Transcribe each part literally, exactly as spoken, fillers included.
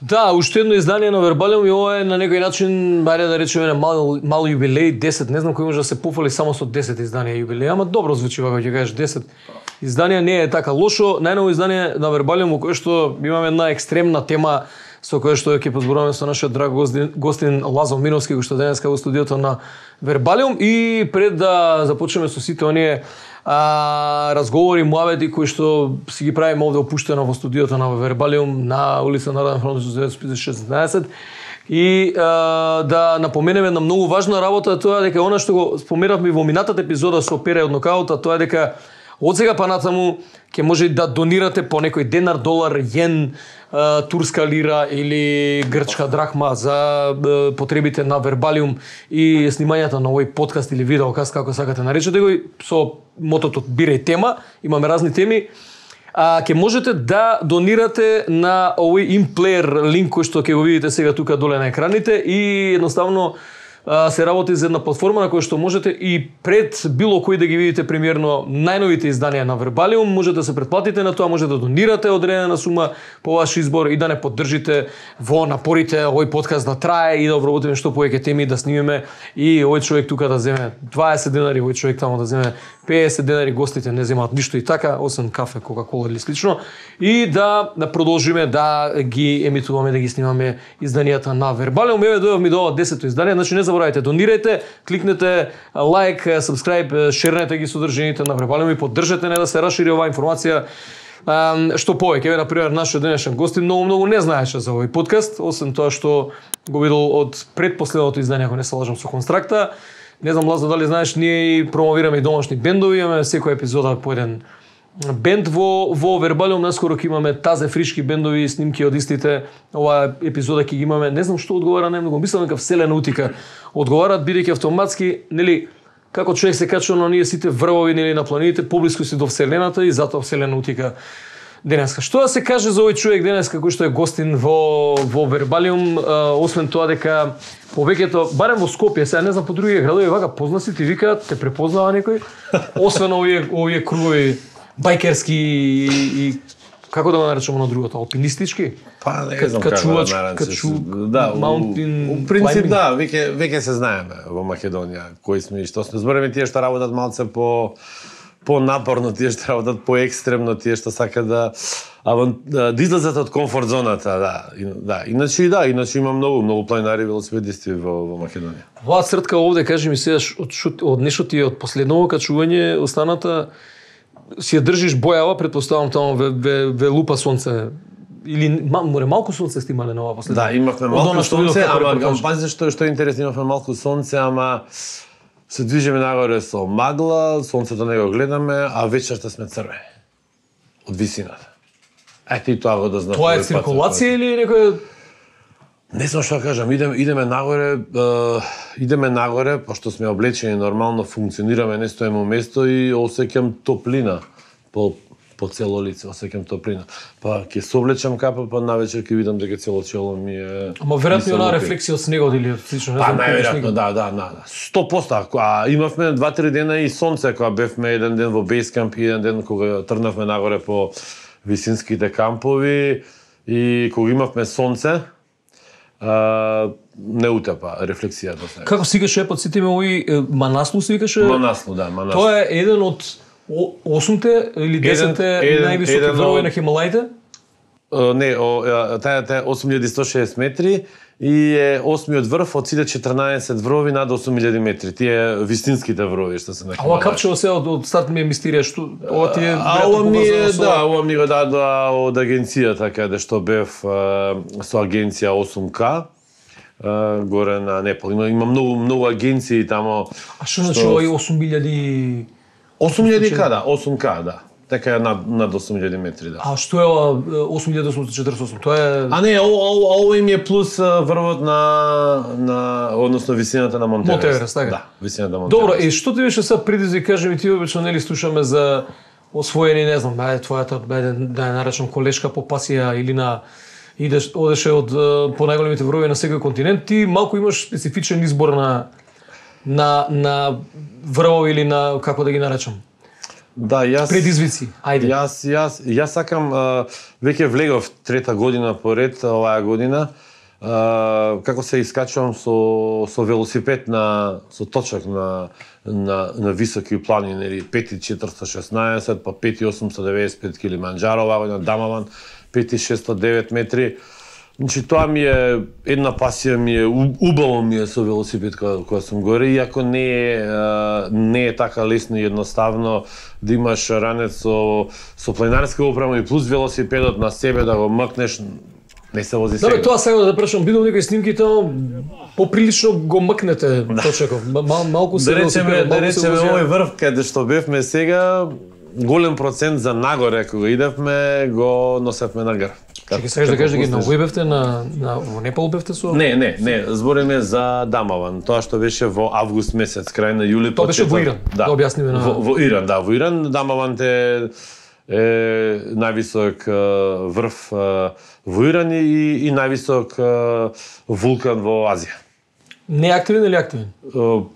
Да, уште едно издание на Вербалиум и ова е на некој начин, баре да речеме, мал, мал јубилеј, десет, не знам кој може да се пофали само со десет изданија јубилеј, ама добро звучи кога ќе кажеш десет изданија, не е така лошо. Најново издание на Вербалиум во кое што имаме една екстремна тема со која што ќе позборуваме со нашиот драг гостин, гостин Лазо Миновски, кој што денеска во студиото на Вербалиум. И пред да започнеме со сите оние а, разговори, муавети кои што си ги правиме овде опуштено во студиото на Вербалиум на улица Народен фронт деветстотини шеснаесет. И а, да напоменеме на многу важна работа, тоа дека она што го споменавме во минатата епизода со Пере од Нокаута, тоа дека од сега па натаму ќе може да донирате по некој денар, долар, јен, турска лира или грчка драхма за потребите на Вербалиум и снимањето на овој подкаст или видеокаст, како сакате наречете го, со мотото бирај тема, имаме разни теми. А ќе можете да донирате на овој InPlayer линк кој што ќе го видите сега тука доле на екраните и едноставно се работи за една платформа на која што можете и пред било кој да ги видите премиерно најновите изданија на Вербалиум, можете да се претплатите на тоа, можете да донирате одредена сума по ваш избор и да не поддржите во напорите овој подкаст да трае и да обработиме што повеќе теми, да снимиме и овој човек тука да земе дваесет денари, овој човек таму да земе педесет денари, гостите не земаат ништо и така, освен кафе, кока-кола или слично, и да, да продолжиме да ги емитуваме, да ги снимаме изданијата на Вербалиум. Еве дојавме до ова десето издание, значи не заборавајте, донирајте, кликнете лайк, сабскрајб, шернете ги содржините на Вербалиум и поддржете не да се расшири оваа информација. Um, што повеќе, еве на пример нашиот денешен гостин многу многу не знаеше за овој подкаст, освен тоа што го видел од предпоследното издание, ако не се лажам, со Констракта. Не знам, Лазо, дали знаеш, ние и промовираме и домашни бендови, имаме секоја епизода по еден бенд во во Вербалиум, наскоро ќе имаме тазе фришки бендови, снимки од истите. Оваа епизода ќе ги имаме. Не знам што одговара најмногу, мислам дека вселена утика одговараат бидејќи автоматски, нели, како човек се качува на ние сите врвови нели на планините, поблиску си до вселената и затоа вселена утика денеска. Што да се каже за овој човек денеска кој што е гостин во во Вербалиум, освен тоа дека повеќето, барем во Скопје, сега не знам по други градови, вака познати ти викаат, те препознава некој, освен овие овие кругови бајкерски и, и како да го наречеме на другото, алпинистички? Па не знам како да наречеме. Качу, да, маунтин, у, у принцип да, веќе веќе се знаеме во Македонија кои сме и што сме. Збораме тие што работат малце по по напорно, тие што работат по екстремно, тие што сакаат да аван, да, да излезат од комфорт зоната, да. И, да, иначе да, иначе има многу многу планинари велосипедисти во во Македонија. Ваа цртка овде кажи ми сега од шут, од нешто ти од последново качување останата си ја држиш бојава, претпоставам таму ве, ве, ве лупа сонце или море малку сонце сте имале на ова последно. Да, имавме малку сонце, ама пази што што е интересно, имавме малку сонце, ама се движиме нагоре со магла, сонцето не го гледаме, а вечерта сме црвени од висината. Ете и тоа го да знам. Тоа е циркулација или некој? Не знам што кажам, идеме идеме нагоре, е, идеме нагоре, пошто сме облечени нормално, функционираме, не стоиме у место и осеќам топлина по по цело лице, осеќам топлина. Па ќе се облечам капа, па навечер ќе видам дека цело чело ми е. Ама веројатно она рефлексија од снегот или слично, не знам. Па најверојатно, да, да, да, сто проценти. А имавме два-три дена и сонце, кога бевме еден ден во бейскамп и еден ден кога тргнавме нагоре по висинските кампови и кога имавме сонце, а, не утепа рефлексијата. Како си викаше под сите овои Манаслу се викаше? Манаслу, да, Манаслу. Тоа е еден од осумте или десетте највисоки врвови на Хималаите? Не, таа е осум илјади сто и шеесет метри и е осмиот врв од сите четрнаесет врвови над осум илјади метри. Тие вистинските врвови што се на Хималаите. Ова капчево се од, од старт ми е мистерија, што ова ти е а ова ми е, да, ова ми го дадоа од агенцијата каде што бев со агенција осум К. Uh, горе на Непал. Има, има многу многу агенции тамо. А што значи овој осум илјади? осум илјади К, да, осум К, да. Така е над над осум илјади метри, да. А што е ова осум илјади осумстотини и четиридесет и осум? Тоа е А не, ово им е плюс врвот на на односно висината на Монте Еверест. Монте така. Да, висината на Монте Добро, и што ти беше сега предизвик, кажи ми, ти обично нели слушаме за освоени, не знам, ајде твојата, ајде да ја наречам колешка по пасија или на идеш, одеше од по најголемите врвови на секој континент, ти малку имаш специфичен избор на на на врвови или на како да ги наречам. Да, јас предизвици. Ајде. Јас јас јас сакам а, веќе влегов трета година поред оваа година. А, како се искачувам со со велосипед на со точак на на на високи планини, нели пет тисуча четиристотини и шеснаесет, па пет тисуча осумстотини и деветдесет и пет Килиманџаро, оваа година Дамаван пет тисуча шестоста и девет метри. Значи тоа ми е една пасија, ми е убаво ми е со велосипед кога, кога сум горе, иако не е не е така лесно и едноставно да имаш ранец со со планинарска опрема и плюс велосипедот на себе да го мкнеш. Не се вози сега. Добре, тоа сега да прашам, видов некои снимки, тоа поприлично го мкнете точеков. Мал, малку се да речеме, да речеме овој врв каде што бевме сега, голем процент за нагоре кога идевме го носевме на грб. Чекај, сакаш да кажеш дека на овој бевте на на во Непал бевте со? Не, не, не, збориме за Дамаван, тоа што беше во август месец, крај на јули. Тоа беше во Иран. Да, да објасниме на во, во Иран, да, во Иран Дамаван те е највисок врв во Иран и, и највисок вулкан во Азија. Не активен или активен?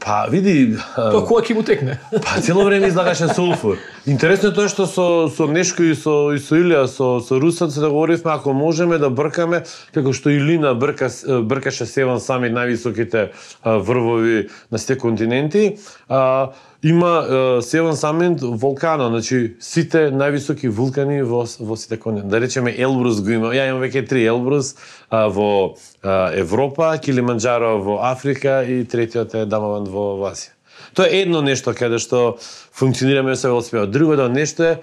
Па, види... Тоа кога ќе му текне? Па, цело време излагаше сулфур. Интересно е тоа што со, со Нешко и со, и со Илија, со, со русанци да говоривме, ако можеме да бркаме, како што Илина брка, бркаше Севен Самит, највисоките врвови на сите континенти, а, има Севен Самит вулкана, значи сите највисоки вулкани во, во сите континенти. Да речеме Елбрус го има, ја имам веќе три Елбрус а, во а, Европа, Килиманџаро во Африка и третиот е Дамаван во, во Азија. Тоа е едно нешто каде што функционираме со велосипедот. Другото нешто е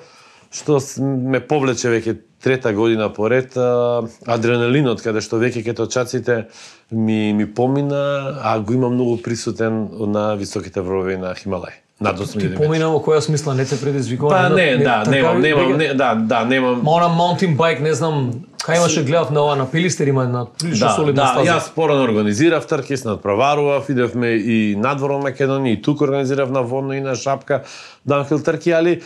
што ме повлече веќе трета година поред адреналинот, каде што веќе кеточаците ми ми помина, а го имам многу присутен на високите врвови на Хималај. Над осум илјади метри. Помина во која смисла не те предизвикува? Па не, не, да, така, немам, немам, веќе... не, да, да, немам. Ма на маунтин байк, не знам, кај имаше гледав на ова на Пилистер, има на прилично да, солидна да, стаза. јас порано организирав трки, надпреварував, идевме и надвор во Македонија, и тук организирав на Водно и на Шапка, данхил трки, али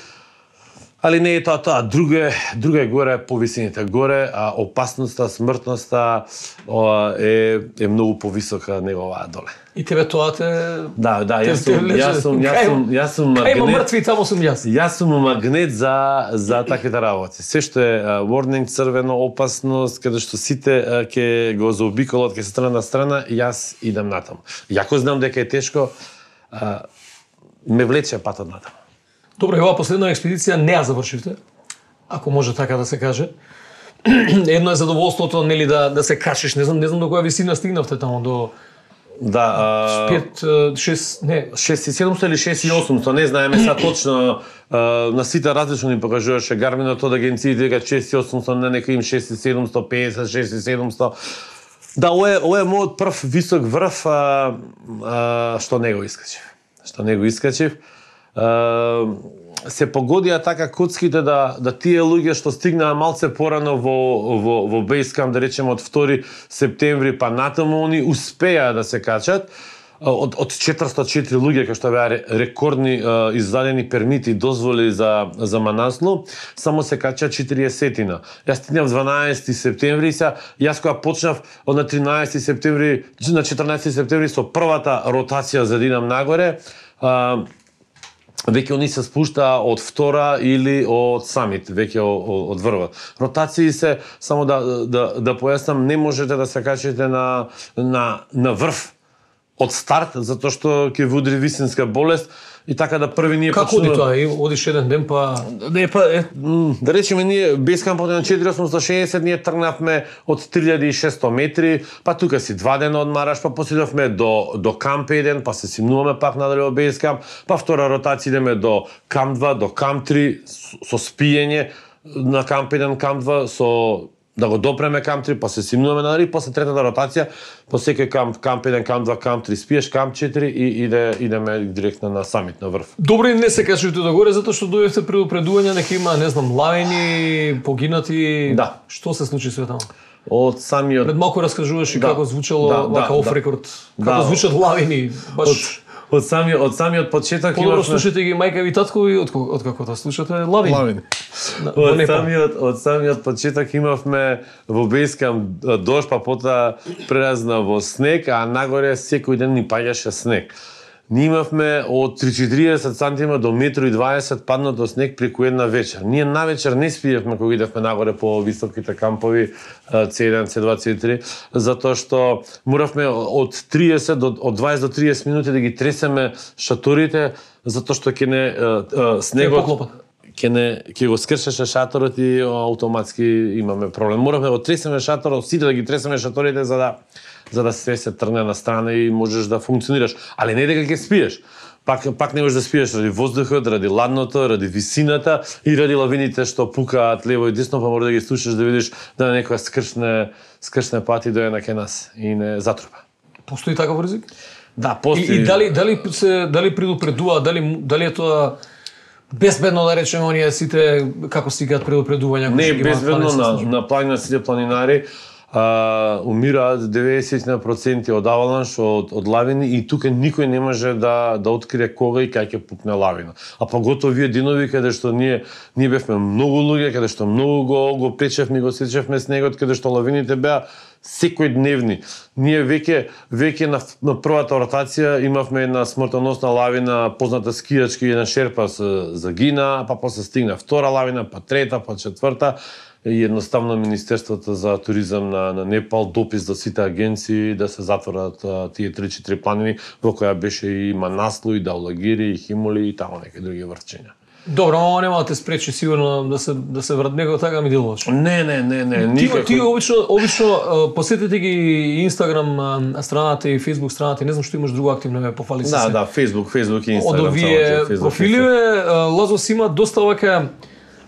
али не е тоа тоа, друго е, друго е горе повисините горе, а опасноста, смртноста о, е е многу повисока него оваа доле. И тебе тоа те... Да, да, те, јас сум, јас сум, јас сум, јас сум магнет. Кај има мртви, таму сум јас. Јас сум магнет за за таквите работи. Се што е warning, црвено, опасност, каде што сите ќе го заобиколат, ќе се страна на страна, јас идам натаму. Јако знам дека е тешко, а, ме влече патот натаму. Добре, оваа последна експедиција не ја завршивте, ако може така да се каже. Едно е задоволството, нели, да да се качиш, не знам, не знам до која висина стигнавте таму, до Да, пет, шест, не, шест тисуча и седумстотини или шест тисучи и осумстотини, не знаеме сега точно, на сите различно ни покажуваше Гарминот од агенциите дека шест тисучи и осумстотини, на некои им шест тисучи и седумстотини и песет, шест тисучи и седумстотини. Да, ова е, ова е мојот прв висок врв, а, а, што не го искачив. Што не го искачив. А, се погодија така коцките да да тие луѓе што стигнаа малце порано во во во Бейскам, да речеме од втори септември па натаму, они успеа да се качат. Од од четиристотини и четири луѓе кои што беа рекордни uh, издадени пермити, дозволи за за Манаслу, само се кача четириесетина. Јас стигнав дванаесети септември, се јас кога почнав од на тринаесети септември, на четрнаесети септември со првата ротација за да идам нагоре, uh, веќе они се спуштаа од втора или од самит, веќе од врва. Ротации се, само да да да појаснам, не можете да се качите на на на врв од старт, затоа што ќе ви удри висинска болест и така да први ние како оди тоа? И одиш еден ден па не па е, да речеме ние бейскампот на четири тисучи осумстотини и шеесет, ние тргнавме од три илјади и шест метри, па тука си два дена одмараш, па поседовме до до камп еден, па се симнуваме пак надале во бейскамп, па втора ротација идеме до камп два, до камп три со спиење на камп еден, камп два со да го допреме камп три, па се симнуваме надали, после третата ротација, по секој камп, камп еден, камп два, камп три, спиеш камп четири и иде идеме директно на самит на врв. Добро, не се качувате догоре затоа што дојдовте предупредување дека има, не знам, лавини, погинати. Да. Што се случи све таму? Од самиот Пред малку раскажуваш да, како звучело да, вака да, оф да. рекорд. Да. Како звучат лавини, баш од, од самиот од самиот почеток подобро слушате ги мајка ви татко и од од како да слушате лавини. Лавини. На, Од самиот од самиот почеток имавме во Бейскам дожд, па потоа преразна во снег, а нагоре секој ден ни паѓаше снег. ние имавме од триста-четириесет сантима до еден метар и дваесет паднато снег преку една вечер. Ние навечер не спиевме кога идевме нагоре по високите кампови Це еден, Це два, Це три, затоа што моравме од триесет до од дваесет до триесет минути да ги тресеме шаторите, затоа што ќе не снегот ќе не ќе го скршеше шаторот и автоматски имаме проблем. Моравме да тресеме шаторот, сите да ги тресеме шаторите за да за да све се тргне на страна и можеш да функционираш, али не дека ќе спиеш. Пак пак не можеш да спиеш ради воздухот, ради ладното, ради висината и ради лавините што пукаат лево и десно, па мора да ги слушаш да видиш да некоја скршне скршне пати дојде на кај нас и не затрупа. Постои таков ризик? Да, постои. И, и дали дали се дали предупредува, дали дали е тоа безбедно да речеме оние сите како стигаат предупредувања? Не е безбедно на на планина сите планинари. Uh, умираат деветдесет проценти од аваланш, од, од лавини и тука никој не може да да открие кога и кај ќе пукне лавина. А поготово вие денови каде што ние ние бевме многу луѓе, каде што многу го го пречевме, го сечевме снегот, каде што лавините беа секојдневни. Ние веќе веќе на, на првата ротација имавме една смртоносна лавина, позната скијачки, еден шерпа се загина, па после стигна втора лавина, па трета, па четврта. И едноставно Министерството за туризам на, на Непал допис до сите агенции да се затворат а, тие три-четири планини, во која беше и Манаслу, и Даулагири, и Химули, и тамо некои други вртчиња. Добро, ама нема да те спречи сигурно да се да се врат него така ми делуваш. Не, не, не, не, никако. Ти, ти обично обично посетите ги Инстаграм страната и Фејсбук страната, не знам што имаш друго активно, ме пофали се. Да, да, Фејсбук, Фејсбук и Инстаграм. Од овие профиливе Лазос има доста вака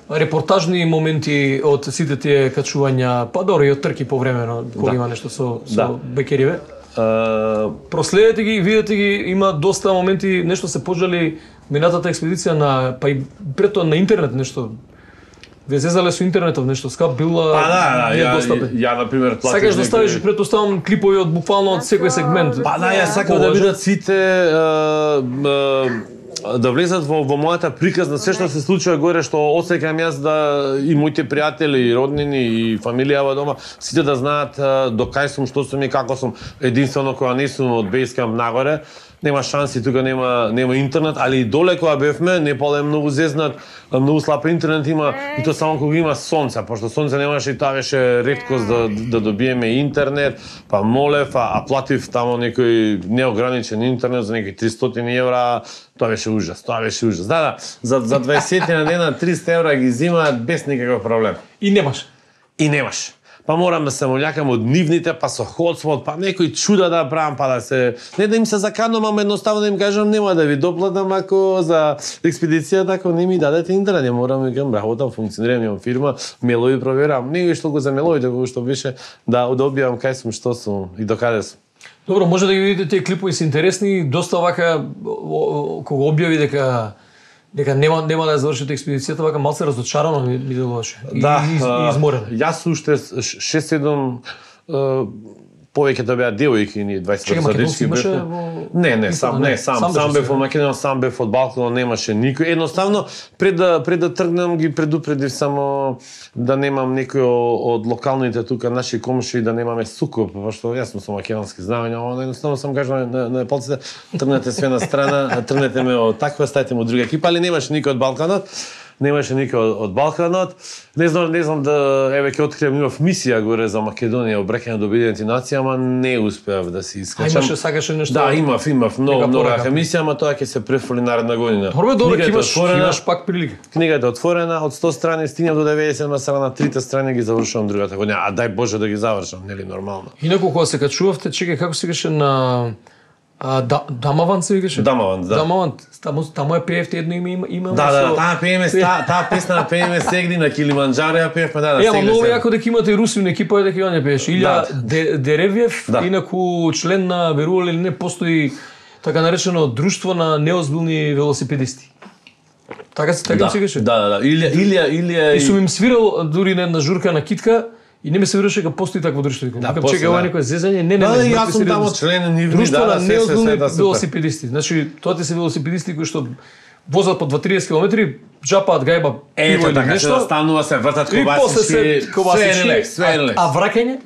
репортажни моменти од сите тие качувања, па добро и од трки по времено, кога да. Има нешто со со да. Бекериве. Uh... Проследете ги, видете ги, има доста моменти, нешто се пожали минатата експедиција на па и прето на интернет нешто. Вие зезале со интернетов нешто, скап била. Па да, да, ја, ја, ја на пример платиш. Сакаш да ставиш и претоставам клипови од буквално од секој сегмент. Па да, ја сакам да видат сите uh, uh, да влезат во, во мојата приказна се што се случува горе, што осеќам јас да и моите пријатели, и роднини и фамилија во дома, сите да знаат до кај сум, што сум и како сум. Единствено кога не сум од Бейскамп нагоре, нема шанси, тука нема нема интернет, али и доле кога бевме, Непал е многу зезнат, многу слаб интернет има и тоа само кога има сонце, пошто сонце немаше и тоа беше реткост да да добиеме интернет, па молев, а, а платив тамо некој неограничен интернет за некои тристоти евра, тоа беше ужас, тоа беше ужас. Да, да, за за дваесет на дена триста евра ги земаат без никаков проблем. И немаш. И немаш. Па морам да се молјакам од нивните, па со хотспот, па некои чуда да правам, па да се не да им се заканувам, ама едноставно да им кажам нема да ви доплатам ако за експедицијата ако не ми дадете интернет, не морам да кажам работам, функционирам, имам фирма, мелови проверам, не што го за меловите, кога што беше да добијам кај сум, што сум и до каде сум. Добро, може да ги видите тие клипови се интересни, доста вака кога објави дека дека нема нема да завршите експедицијата, вака малце разочарано ми, ми делуваше. Да, и, и, и изморен. Јас уште шест-седум повеќето беа девојки ни дваесет годишни бевме. Не, не, сам не, сам, сам, сам бев во Македонија, сам бев од Балканот, немаше никој. Едноставно пред да пред да тргнам ги предупредив само да немам некој од локалните тука наши комши да немаме сукоп, пошто јас сум со македонски знамења, но едноставно сам кажал на на полците тргнете све на страна, тргнете ме од таква, стајте ме од друга екипа, али немаше никој од Балканот. Немаше никој од, од Балканот. Не знам, не знам да еве ќе открием, имав мисија горе за Македонија, обраќање до Обединените нации, ама не успеав да се искачам. А имаше сакаше нешто? Да, имав, имав многу многу рака мисија, ама тоа ќе се префоли наредна година. Добро, добро, ќе имаш, имаш пак прилика. Книгата е отворена, од сто страни стигнав до деветдесет страна, трите страни ги завршувам другата година. А дај Боже да ги завршам, нели нормално. Инаку кога се качувавте, чекај како се викаше на А, да, Дамавант се викаше? Дамавант, да. Дамавант. Тамо, тамо е пеевте едно име има, има да, да, таа пееме, таа та песна на пееме сегди на Килиманџаро ја пеевме, да, да. Е, ама многу јако дека имате Русин екипа дека ја не пееше. Илја да. Деревјев, да. Инаку член на, верували или не, постои така наречено друштво на неозбилни велосипедисти. Така се така да. се викаше? Да, да, да. Илја, Илја, Илја. И сум им свирал дури на една журка на китка. И не ми се веруваше дека постои такво друштво. Да, Викам, чекај, ова некој зезање, не, не, да, не. Да, јас сум тамо член нивни, друштво да, на да, се, се, неозбилни се, да, велосипедисти. Значи, тоа ти се велосипедисти кои што возат по дваесет до триесет километри, джапаат гајба Ето пиво или така, нешто. се станува се вртат И после се кобасички, кобасички, све е релакс, све е а, релакс. а враќање?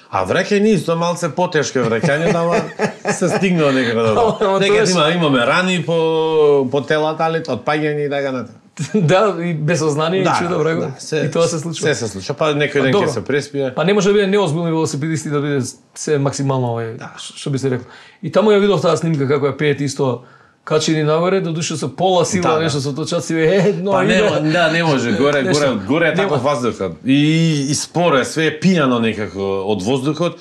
А враќање исто малце потешко враќање, ама се стигнува некако Ама, добро. ама Некад тоа е- има имаме рани по по телата, али отпаѓање и така натаму. Да, и без сознание, Да, и чудо браго. да, се- И тоа се случува. Се се случува, па некој ден добро. ќе се преспие. Па не може да биде неозбилни велосипедисти да биде се максимално овој, што би се рекол. И таму ја видов таа снимка како ја пеет исто качени нагоре, додуше со пола сила, Да, да. нешто со точаци, е, но Па иде. нема, да, не може, горе, Нешто. горе, горе е Нема. таков воздухот. И, и споро е, све е пијано некако од воздухот.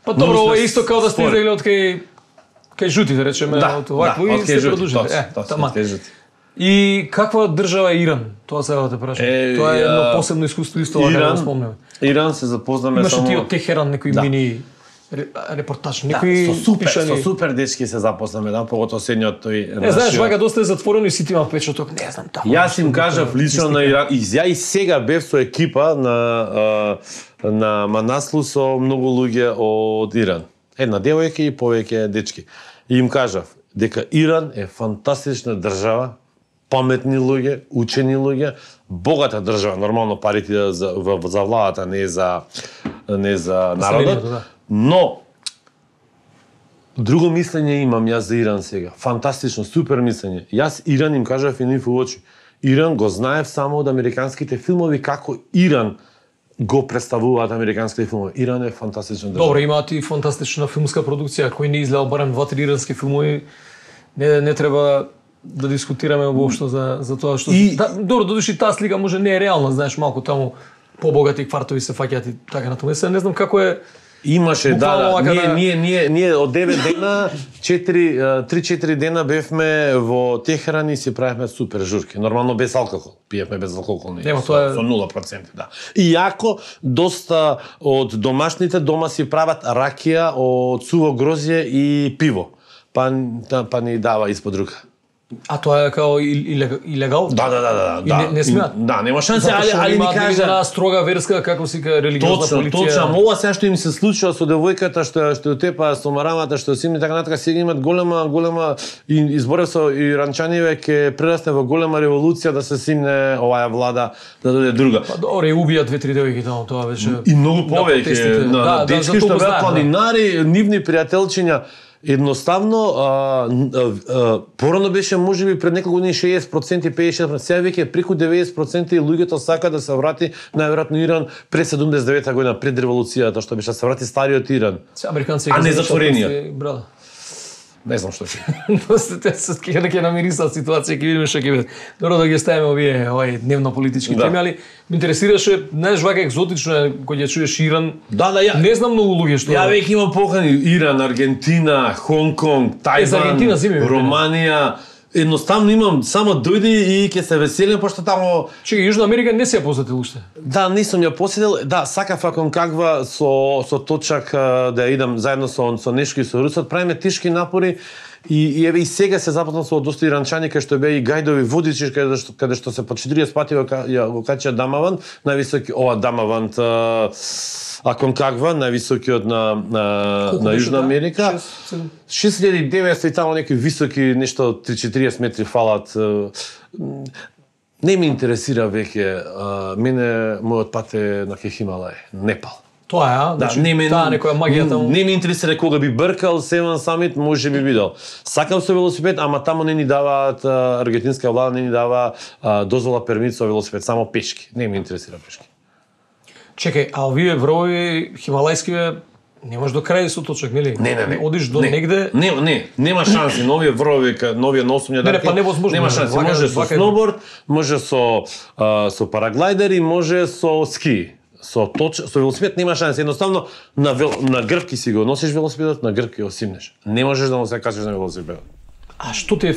Па добро, Но ова е сме исто као да сте спори. излегли од кај кај жути, да речеме, Да, од овакво да, од и кај сте жути, продолжили. точно, Е, точно, таман. од кај жути. И каква држава е Иран? Тоа сега да те прашам. Е, Тоа е едно ја- посебно искуство исто вака да го спомнеме. Иран се запознаме Имаше само... ти од Техеран некои Да. мини ре- репортаж, Да, некои со супер, пишани. со супер дечки се запознаме, да, поготово седниот тој. Не знаеш, нашиот- вака доста е затворено и сите има печаток, не знам таму. Јас им нешто, кажав нека лично на мистика. Иран, и ја и сега бев со екипа на а, на Манаслу со многу луѓе од Иран. Една девојка и повеќе дечки. И им кажав дека Иран е фантастична држава, паметни луѓе, учени луѓе, богата држава, нормално парите за в- за владата, не за не за народот, Населението, да. но друго мислење имам јас за Иран сега. Фантастично, супер мислење. Јас Иран им кажав и нив у очи. Иран го знаев само од американските филмови како Иран го представуваат американските филмови. Иран е фантастична држава. Добро, имаат и фантастична филмска продукција, кој не изгледал барем два-три ирански филмови. Не не треба да дискутираме воопшто за за тоа што И- да, добро, додуши таа слика може не е реална, знаеш, малку таму побогати квартови се фаќаат и така натаму. Се не знам како е. Имаше, да, Буквално да. вака Ние, да- ние, ние, ние од девет дена, три-четири дена бевме во Техеран и си правевме супер журки. Нормално без алкохол. Пиевме без алкохол. Нема, со, тоа е- со нула проценти, да. Иако доста од домашните дома си прават ракија од суво грозје и пиво. Па, та- па ни дава испод рука. А тоа е као ил- илег- илегал? Да, да, да, да. И да. не- не смеат? Да, нема шанси, Затоа али, што али ни имаат кажа... една строга верска, како си ка религиозна Точно, полиција. точно. Ама ова сега што им се случува со девојката што што тепа со марамата, што симни така натака, сега имат голема голема и изборев со иранчаниве ќе прерасне во голема револуција да се симне оваа влада да дојде друга. Па добро, и убија две-три девојки таму, тоа беше. И многу на протестите. повеќе на, Да, на да, дечки за тоа што го беа знаем, да. планинари, нивни пријателчиња. Едноставно, а, а, а, порано беше можеби пред неколку години шеесет проценти, пеесет проценти, сега веќе преку деветдесет проценти луѓето сака да се врати најверојатно Иран пред седумдесет и девета година, пред револуцијата, што беше да се врати стариот Иран. Се американци А ги не завршат затворениот. после, брат. Не знам што ќе. После те се ќе ќе намирисат ситуација, ќе видиме што ќе биде. Добро да ги ставиме овие овај дневно политички Да. теми, али ме интересираше, знаеш, вака екзотично е кога ја чуеш Иран. Да, да, ја. Не знам многу луѓе што. Ја веќе имам покани Иран, Аргентина, Хонг Конг, Е, за Аргентина Тајван, зими, бе, Романија. Едноставно имам само дојди и ќе се веселим пошто таму Чеки, Јужна Америка не се ја посетил уште. да, не сум ја посетил. Да, сакав акон каква со со точак а, да идам заедно со со Нешко и со Русот, правиме тешки напори и, и еве и сега се запознав со доста иранчани кај што беа и гајдови водичи каде што каде што се по четириесет пати го, ка- ја го кача Дамаван, највисоки ова Дамаван акон каква највисокиот на на, Колку на беше Јужна тоа? Америка. Шест, седум? шест илјади и деветстотини и таму некои високи нешто три-четириесет метри фалат. е, Не ме интересира веќе. а, Мене мојот пат е на Хималај, Непал. Тоа е, а? Да, Значи, не ме таа некоја магија таму. Не ме интересира кога би бркал Севен Самит, може би видел. Сакам со велосипед, ама таму не ни даваат а, аргентинска влада не ни дава а, дозвола пермит со велосипед, само пешки. Не ме интересира пешки. Чекај, а овие вровови хималајски немаш до крај со точак, нели? Не, не, не. Одиш до не. негде. Не, не, нема шанси. Новие врови, ка- новие на осум Не, не, па невозможно. Нема шанси. Вака- Може со вака е- сноуборд, може со а, со параглайдер и може со ски. Со точ, со велосипед нема шанси. Едноставно на вел, на грбки си го носиш велосипедот, на грбки го симнеш. Не можеш да му се качиш на велосипедот. А што ти е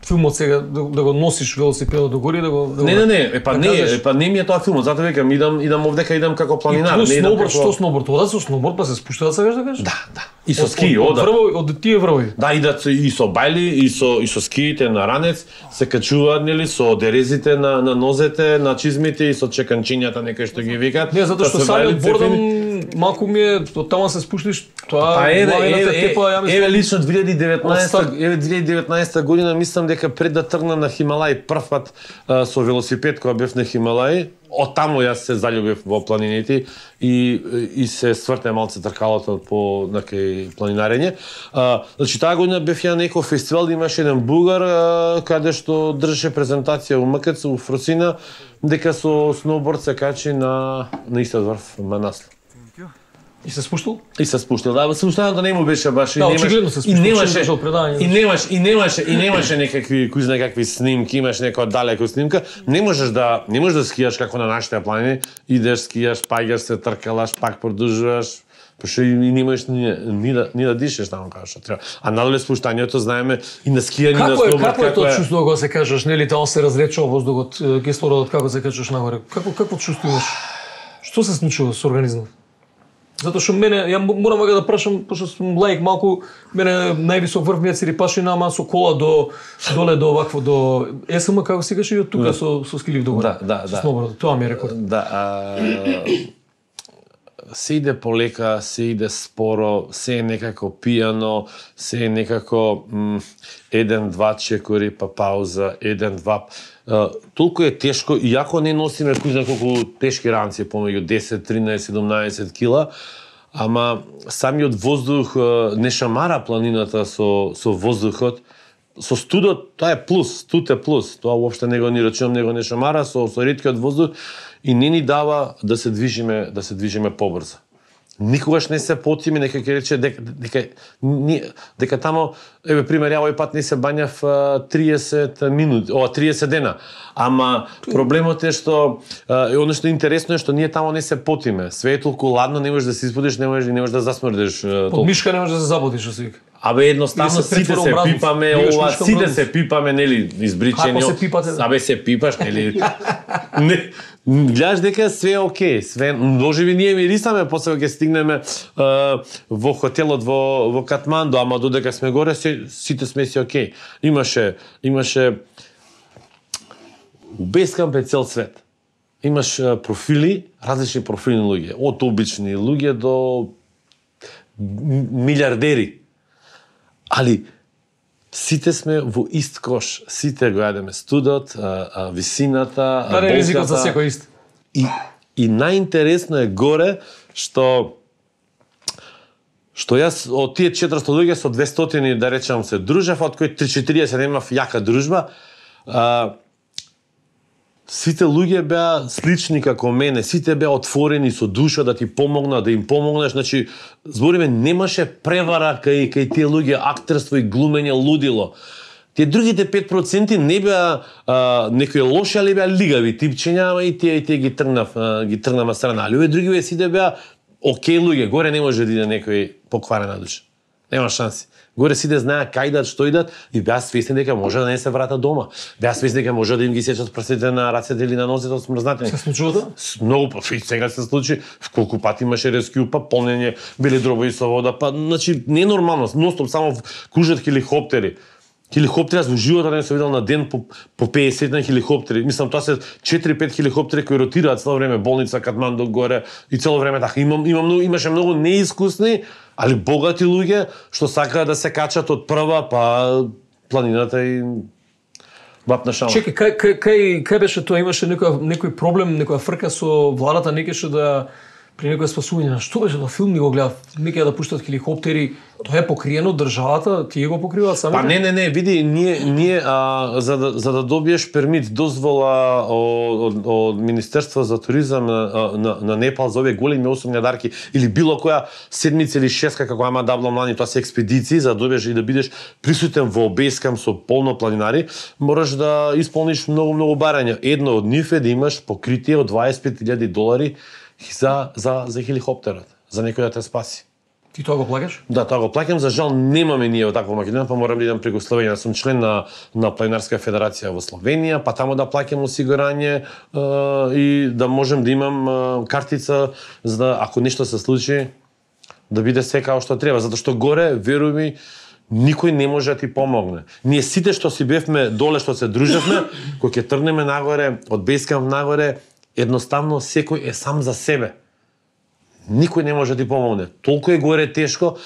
филмот сега да, да го носиш велосипедот до гори да го да Не, го- не, не, е па да не, кажеш- е па не ми е тоа филмот, затоа викам идам идам овдека идам како И планинар, плюс не идам сноуборд, како што сноуборд? Одат со сноуборд па се спуштаат, сакаш да кажеш? Да, да. И со ски, од, одат. Врвови, од тие врвови. Да, идат и со бајли, и со и со скиите на ранец, се качуваат нели со дерезите на на нозете, на чизмите и со чеканчињата некои што ги викаат. Не, затоа што самиот бордам малку ми е, од тама се спуштиш, тоа па еве, главината еве, тепа, ја мислам. еве лично две илјади и деветнаесета, еве две илјади и деветнаесета година мислам дека пред да тргнам на Хималај прв пат а, со велосипед кога бев на Хималај, од таму јас се заљубив во планините и и се свртне малце тркалото по некој планинарење. А, значи таа година бев ја на некој фестивал, имаше еден бугар а, каде што држеше презентација у МКЦ у Фросина дека со сноуборд се качи на на истиот врв Манасло. И се спуштил? И се спуштил. Да, спуштањето не му беше баш да, и немаше очигледно се и спуштил, немаше предавање. И немаше и немаше и немаше некакви кој знае какви снимки, имаш некоја далеко снимка. Не можеш да не можеш да скијаш како на нашите планини, идеш скијаш, паѓаш се, тркалаш, пак продолжуваш. Пошто и немаш ни, ни, да, ни да дишеш таму како што треба. А надоле спуштањето знаеме и на скијање на сноуборд. Како е тоа чувство кога се кажеш, нели тоа се разречува воздухот, кислородот како се качиш нагоре? Како какво чувство имаш? Што се случува со организмот? Затоа што мене, ја морам да прашам, пошто сум лаик малку, мене највисок врв ми е Цирипашина, ама со кола до доле до вакво до ЕСМ како се каже и од тука да. со со скилив до горе. Да, да, со да. сноуборд, тоа ми е рекорд. Да, а, се иде полека, се иде споро, се е некако пијано, се е некако м, еден, два чекори, па пауза, еден, два. Uh, толку е тешко, иако не носиме кој знае колку тешки ранци, помеѓу десет, тринаесет, седумнаесет кила, ама самиот воздух uh, не шамара планината со, со воздухот. Со студот, тоа е плюс, студ е плюс, тоа уопште него ни рачунам, него не шамара, со, со реткиот воздух и не ни дава да се движиме, да се движиме побрзо. Никогаш не се потиме, нека ќе рече дека дека дека, дека тамо, еве пример, ја овој пат не се бањав триесет минути, о триесет дена. Ама проблемот е што е оно што е интересно е што ние тамо не се потиме. Све е толку ладно, не можеш да се испудиш, не можеш не можеш да засмрдеш. Под мишка не можеш да се забодиш, што се вика. Абе едноставно се сите се пипаме, ова сите се пипаме, нели, избричени. Како се пипате? Абе се пипаш, нели? Не, гледаш дека све е окей, све можеби ние мирисаме после кога ќе стигнеме uh, во хотелот во во Катманду, ама додека сме горе се, сите сме си окей. Имаше имаше у Бескамп е цел свет. Имаш uh, профили, различни профили на луѓе, од обични луѓе до милиардери. Али сите сме во ист кош, сите го јадеме студот, а, а, висината, да, болката. Ризикот за секој ист. И, и најинтересно е горе што што јас од тие четиристотини луѓе со двестотини да речам се дружев, од кои три-четириесет немав јака дружба. А, сите луѓе беа слични како мене, сите беа отворени со душа да ти помогнат, да им помогнеш, значи збориме немаше превара кај кај тие луѓе, актерство и глумење лудило. Тие другите пет проценти не беа а, некои лоши, али беа лигави типчиња, ама и тие и тие ги тргнав, а, ги тргнав страна. Али овие други сите беа окей луѓе, горе не може да иде некој покварена душа. Нема шанси. Горе сите знаат кај идат, што идат и беа свесни дека може да не се врата дома. Беа свесни дека може да им ги сечат прстите на рацете или на нозете од смрзнатени. Се случува тоа? Многу па и сега се случи. Колку пати имаше рескју, па полнење бели дробови со вода, па значи не е нормално, ностоп само кружат хеликоптери. Хеликоптери во животот не се видел на ден по, по песет на хеликоптери. Мислам тоа се четири-пет хеликоптери кои ротираат цело време болница Катманду горе и цело време така. Имам има многу имаше многу неискусни, али богати луѓе што сакаат да се качат од прва па планината и вапна шама. Чекај, кај кај кај кај беше тоа, имаше некој некој проблем, некоја фрка со владата, не кеше да при некој спасување, на што беше на филм ни го гледав, некоја да пуштат хеликоптери, тоа е покриено од државата, тие го покриваат самите? Па не, не, не, види, ние ние а, за да за да добиеш пермит, дозвола од од, од Министерство за туризам на, на, на Непал за овие големи осумни дарки или било која седмица или шеска како ама дабло млани, тоа се експедиции, за да добиеш и да бидеш присутен во Бескамп со полно планинари, мораш да исполниш многу многу барања. Едно од нив е да имаш покритие од дваесет и пет илјади долари за за за хеликоптерот, за некој да те спаси. Ти тоа го плаќаш? Да, тоа го плаќам, за жал немаме ние во таква Македонија, па морам да идам преку Словенија. Сум член на на Планинарска федерација во Словенија, па таму да плаќам осигурање е, и да можем да имам е, картица за да ако нешто се случи да биде се како што треба, затоа што горе, веруј ми, никој не може да ти помогне. Ние сите што си бевме доле, што се дружевме, кога ќе тргнеме нагоре, од Бейскамп нагоре, едноставно секој е сам за себе. Никој не може да ти помогне. Толку е горе тешко,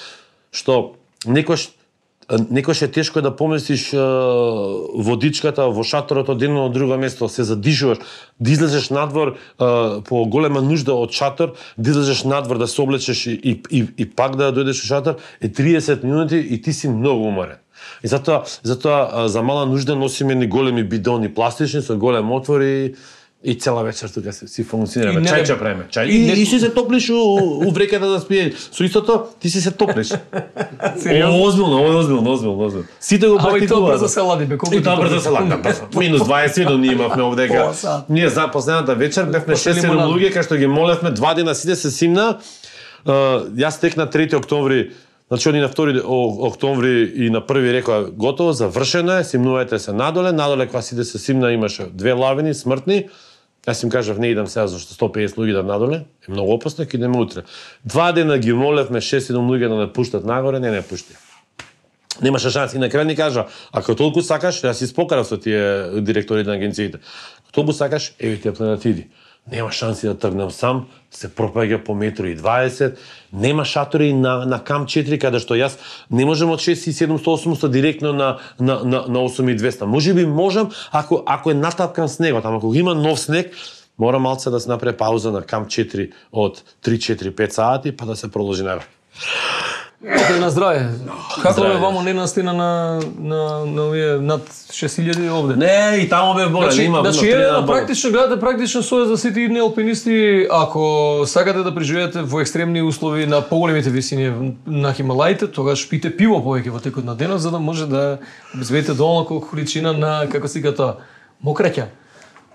што некош некош е тешко да поместиш е, водичката во шаторот од едно од друго место, се задишуваш, да излезеш надвор е, по голема нужда од шатор, да излезеш надвор да се облечеш и, и, и, и пак да дојдеш во шатор, е триесет минути и ти си многу уморен. И затоа, затоа за мала нужда носиме ни големи бидони пластични со голем отвор и и цела вечер тука си, си функционираме. Чај ќе преме. Чај. И, и, и си се топлиш у, у вреката да спие. Со истото ти си се топлиш. Сериозно? Озбилно, озбилно, озбилно, озбилно. Сите го практикуваат. Ама и тоа брзо се лади, бе. Колку и тоа брзо се лади. Минус дваесет минути ние имавме овдека. Ние за последната вечер бевме шест-седум луѓе кај што ги молевме два дена сите се симна. Uh, јас тек на трети октомври, значи они на втори октомври и на први рекоа готово, завршено е, симнувајте се надоле, надоле кога сите се симна имаше две лавини смртни. Јас им кажав, не идам сега, зашто сто и педесет луѓе да надоле, е многу опасно, ќе идеме утре. Два дена ги молевме шест-седум луѓе да не пуштат нагоре, не не пушти. Немаше шанс. И на крај ни кажа, ако толку сакаш, јас испокарав со тие директорите на агенциите, ако толку сакаш, еви ти ја планета иди. Нема шанси да тргнам сам, се пропаѓа по метро и дваесет, нема шатори на, на Камп четири, каде што јас не можам од шест и седумстотини осумстотини директно на, на, на, на осум и двеста. Може би можам, ако, ако е натапкан снегот, ама ако има нов снег, мора малце да се направи пауза на Камп четири од три-четири-пет сати, па да се продолжи навек. Окей, на здраве. Како е вамо не настина на на на овие над шест илјади овде? Не, и таму бе боле, значи, има. Значи, е на практично гледате практично сојуз за сите идни алпинисти, ако сакате да преживеете во екстремни услови на поголемите висини на Хималаите, тогаш пите пиво повеќе во текот на денот за да може да обезбедите доволна количина на, како се тоа, мокраќа.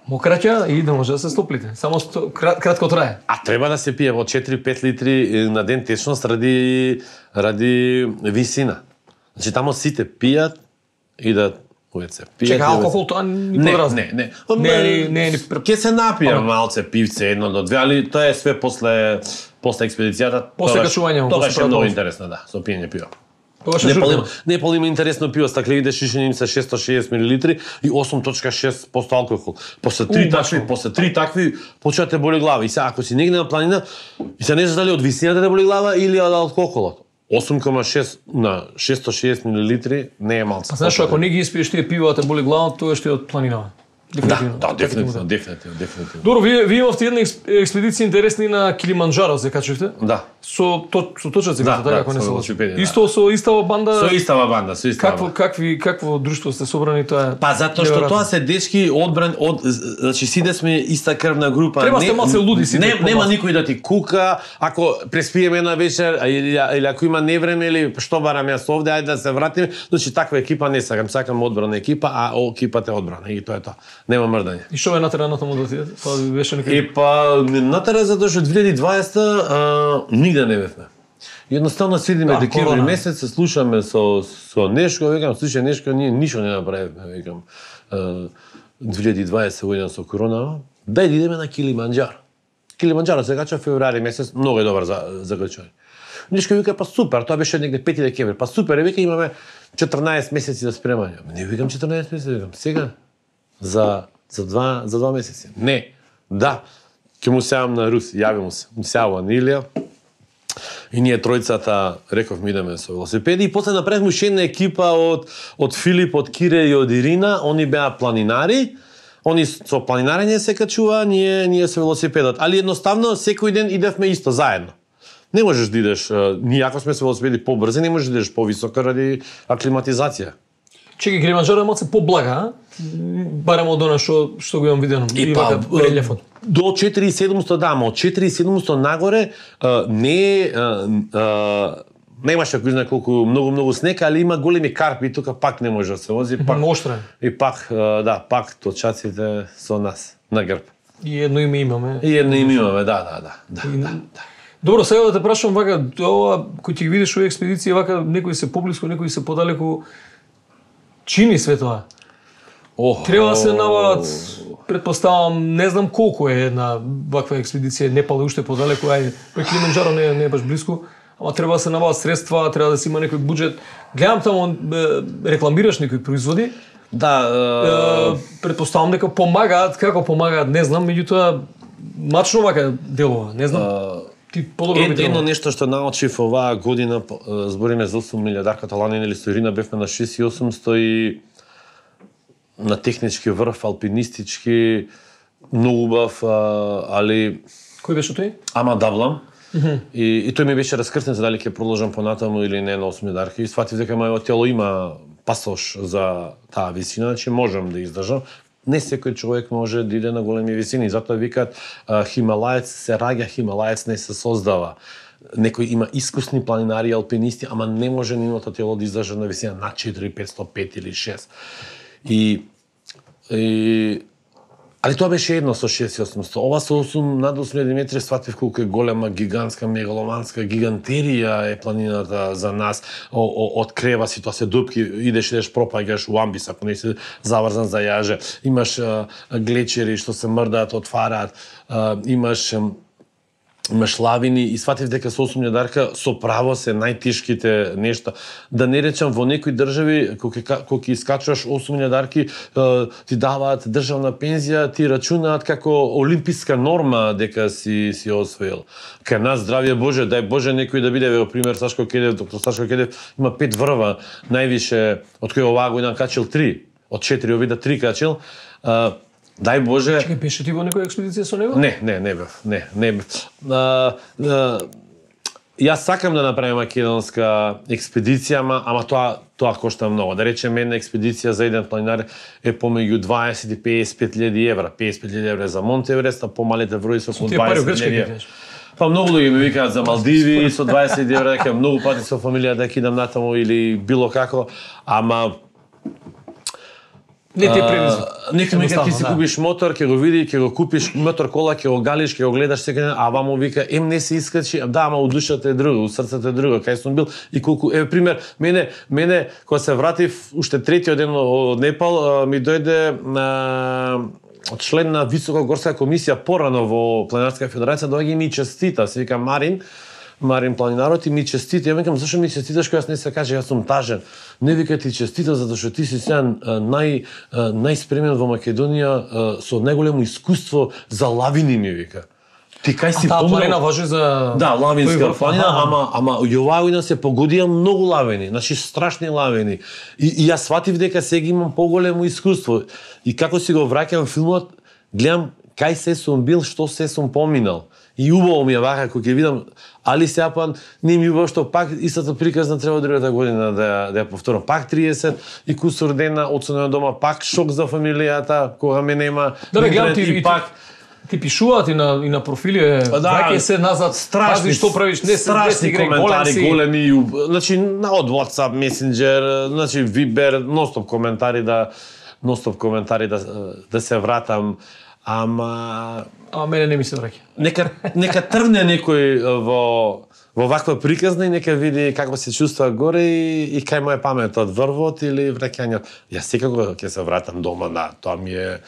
Мокраќа и да може да се стоплите. Само сто, крат, кратко трае. А треба да се пие во четири-пет литри на ден течност ради ради висина. Значи тамо сите пијат и да ует се пијат. Чека, алкохол тоа ни подразни. Не, не, не. Не, не, не. Ке се напија малце пивце едно до две, али тоа е све после после експедицијата. После качување, тоа е многу интересно, да, со пиење пиво. Не полима, не полима интересно пиво, стаклените шишени им се шестоста и шеесет милилитри и осум точка шест проценти алкохол. После три такви, после три такви почнува те боли глава. И сега ако си негде на планина, и се не знаеш дали од висината те боли глава или од алкохолот. осум кома шест на шестоста и шеесет милилитри не е малце. А знаеш, ако не ги испиеш тие пива, те боли глава, тоа што е од планинава. Дефинитивно. Да, да, дефинитивно, дефинитивно, дефинитивно. Добро, вие вие имавте една експедиција интересна на Килиманџаро, се качувте? Да. Со то со точаци, да, така да, ако не се лажам. Да. Исто со истава банда. Со истава банда, со истава. Какво какви какво друштво сте собрани тоа? Па затоа што тоа се дечки одбран од значи сите сме иста крвна група. Треба сте малце луди сите. Не, нема никој да ти кука, ако преспиеме една вечер или, или ако има невреме или што барам јас овде, ајде да се вратиме. Значи таква екипа не сакам, сакам одбрана екипа, а екипата е одбрана и тоа е тоа. Нема мрдање. И што ве натера на тоа да отидете? Тоа ви беше некаде. И па натера затоа што две илјади и дваесета нигде не бевме. Едноставно седиме да, декември месец, се слушаме со со Нешко, викам, слушај Нешко, ние ништо не направивме, викам. две илјади и дваесета година со корона, дај да идеме на Килиманџаро. Килиманџаро се кача февруари месец, многу е добар за за качување. Нешко вика, па супер, тоа беше негде пети декември, па супер, вика имаме четрнаесет месеци за спремање. Не викам четрнаесет месеци, викам, сега за за два за два месеци. Не. Да. Ќе му сеам на Рус, јави му се. Му сеава Анилија. И ние тројцата рековме идеме со велосипеди и после направивме уште една екипа од од Филип, од Кире и од Ирина, они беа планинари. Они со планинарење се качува, ние ние со велосипедот, али едноставно секој ден идевме исто заедно. Не можеш да идеш, ние ако сме со велосипеди побрзи, не можеш да идеш повисоко ради аклиматизација. Чеки, Килиманџаро е малце поблага, а? Барем од она што што го имам видено. И па, релефот. До четири илјади и седумстотини, да, од четири илјади и седумстотини нагоре а, не а, а, немаше кој знае колку многу многу снег, али има големи карпи и тука пак не може да се вози, пак. Оштро. И пак, а, да, пак точаците со нас на грб. И едно име имаме. И едно име имаме, да, да, да, да, и... да, да. Добро, сега да те прашам вака, ова кој ќе ги видиш овие експедиции, вака некои се поблиску, некои се подалеку. Чини све тоа? Oh, Треба да се набават, предпоставам, не знам колку е една ваква експедиција, Непал е уште подалеку, ај, па Килиманџаро не, не е баш блиску, ама треба да се набават средства, треба да се има некој буџет. Гледам таму рекламираш некои производи. Да, е, претпоставам дека помагаат, како помагаат, не знам, меѓутоа мачно вака делува, не знам. Uh, ти подобро Ед, би едно нешто што научив оваа година, збориме за осум милијадарката ланин или Сорина, бевме на шест и осумсто и на технички врв, алпинистички, многу убав, али... Кој беше тој? Ама Давлам. Mm -hmm. И, и тој ми беше раскртен за дали ќе продолжам понатаму или не на осум милијадарки. И сватив дека моето тело има пасош за таа висина, значи можам да издржам. Не секој човек може да иде на големи висини, затоа викаат Хималаец се раѓа, Хималаец не се создава. Некој има искусни планинари, алпинисти, ама не може нивното тело да издржа на висина над четири петстотини и пет или шест. И, и али тоа беше едно со шест и осумсто. Ова со осум над осум илјади метри сватив колку е голема, гигантска, мегаломанска гигантерија е планината за нас. О, о, од крева си, тоа се дупки, идеш, идеш, пропаѓаш у амбис, ако не си заврзан за јаже. Имаш а, глечери што се мрдаат, отвараат, а, имаш имаш лавини и сватив дека со осум милијадарка со право се најтешките нешта. Да не речам во некои држави кога кога искачуваш осум милијадарки ти даваат државна пензија, ти рачунаат како олимписка норма дека си си освоил. Кај нас здравје Боже, дај Боже некој да биде, во пример Сашко Кедев, доктор Сашко Кедев има пет врва, највише од кои оваа година качил три, од четири овида три качил. Дај Боже. Чекај, беше ти во некоја експедиција со него? Не, не, не бев, не, не бев. А, а, јас сакам да направам македонска експедиција, ама, ама тоа тоа кошта многу. Да речеме една експедиција за еден планинар е помеѓу дваесет и песет и пет илјади евра. песет и пет илјади евра за Монте Еврест, а помалите врвови со околу дваесет илјади евра. Па многу луѓе ми викаат за Малдиви со дваесет илјади евра, дека многу пати со фамилија да кидам натаму или било како, ама не ти превизи. Некој ми кога ти си купиш мотор, ќе го види, ќе го купиш мотор кола, ќе го галиш, ќе го гледаш секој ден, а вамо вика ем не се искачи, да, ама у душата е друго, у срцето е друго, кај сум бил и колку е пример, мене мене кога се вратив уште третиот ден од Непал, ми дојде на член на Високогорска комисија порано во Планинарска федерација, доаѓа и ми честита, се вика Марин, Марин планинарот и ми честита. Ја викам, зашо ми честиташ кога јас не се каже, јас сум тажен. Не вика ти честита затоа што ти си сега нај најспремен во Македонија со најголемо искуство за лавини, ми вика. Ти кај си помнал? Таа планина важи за да, лавинска планина, ама ама и оваа година се погодија многу лавини, значи страшни лавини. И, и јас сватив дека сега имам поголемо искуство. И како си го враќам филмот, гледам кај се сум бил, што се сум поминал. И убаво ми е вака кога ќе видам, али сега па не ми убаво што пак истата приказна треба другата година да да ја повторам. Пак триесет и кусур дена одсуден дома, пак шок за фамилијата кога ме нема. Да бе, гледам ти и пак ти пишуваат и на и на профили, враќај се назад, страшни што правиш, не се страшни коментари големи, значи на од WhatsApp, Messenger, значи Viber, ностоп коментари да ностоп коментари да да се вратам. Ама а мене не ми се враќа. Нека нека тргне некој во во ваква приказна и нека види како се чувствува горе и, и кај му е памет од врвот или враќањето. Јас секако ќе се вратам дома, на тоа ми е.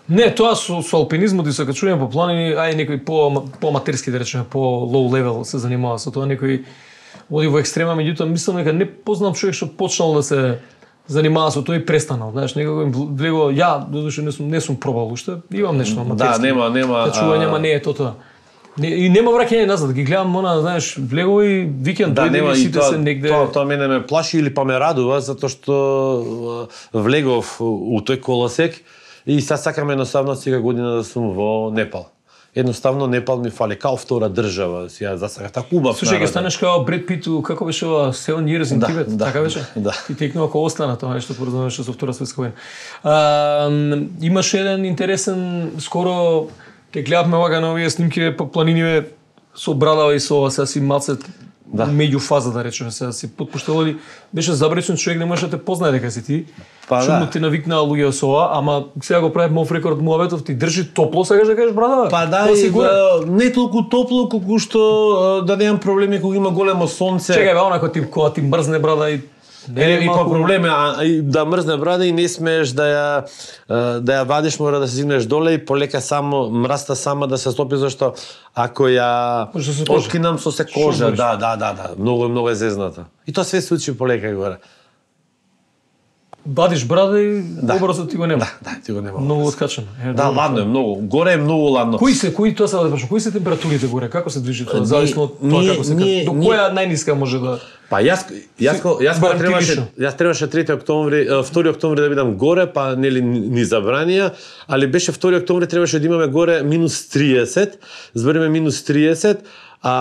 Не, тоа со, со алпинизмот и со качување по планини, ај некој по по аматерски да речеме, по low level се занимава со тоа, некој оди во екстрема, меѓутоа мислам дека не познам човек што почнал да се занимава со тоа и престанал, знаеш, некако им влегува, ја додуше не сум не сум пробал уште, имам нешто аматерски. Да, нема, нема. Качување, ама не е тоа. Не, и нема враќање назад, ги гледам она, знаеш, влегува и викенд да, дојде и сите се негде. Тоа тоа мене ме плаши или па ме радува затоа што влегов у тој колосек и сега сакам едноставно сега година да сум во Непал. Едноставно Непал ми фали као втора држава, сега за сега така убав. Слушај, ќе станеш као Бред Питу, како беше ова Seven Years in да, Tibet, да, така беше? Да. Ти текнува ако остана тоа нешто поразумеше со втора светска војна. А, имаш еден интересен, скоро ќе гледавме вака на овие снимки по планиниве со брадава и со сега си малце да. Меѓу фаза да речеме, сега си потпуштували, беше забречен човек, не може да те познае дека си ти. Па Шумно да. ти навикнаа луѓе со ова, ама сега го правев мов рекорд муабетов, ти држи топло, сега да кажеш брадава. Па да, и, да, не толку топло колку што да немам проблеми кога има големо сонце. Чекај бе, она кога ти кога ти мрзне брада и Не е, е и малку- по проблеме а, и да мрзне брада и не смееш да ја а, да ја вадиш, мора да се зимнеш доле и полека само мраста сама да се стопи, зашто ако ја Може да се кожа. откинам со се Што кожа, збориш? да, да, да, да, многу многу е зезната. И тоа све се учи полека горе. Вадиш брада и Да. образот ти го нема. Да, да, ти го нема. Многу откачено. Е, Да, добро. ладно е многу. Горе е многу ладно. Кои се, кои тоа се да прашам, кои се температурите горе? Како се движи тоа? Ние- Зависно од тоа ние- како се ние- до ние- која најниска може да Па јас јас ко- јас Барем кога ти требаше лично. јас требаше трети октомври, е, втори октомври да бидам горе, па нели ни забранија, али беше втори октомври требаше да имаме горе минус триесет, збориме минус триесет, а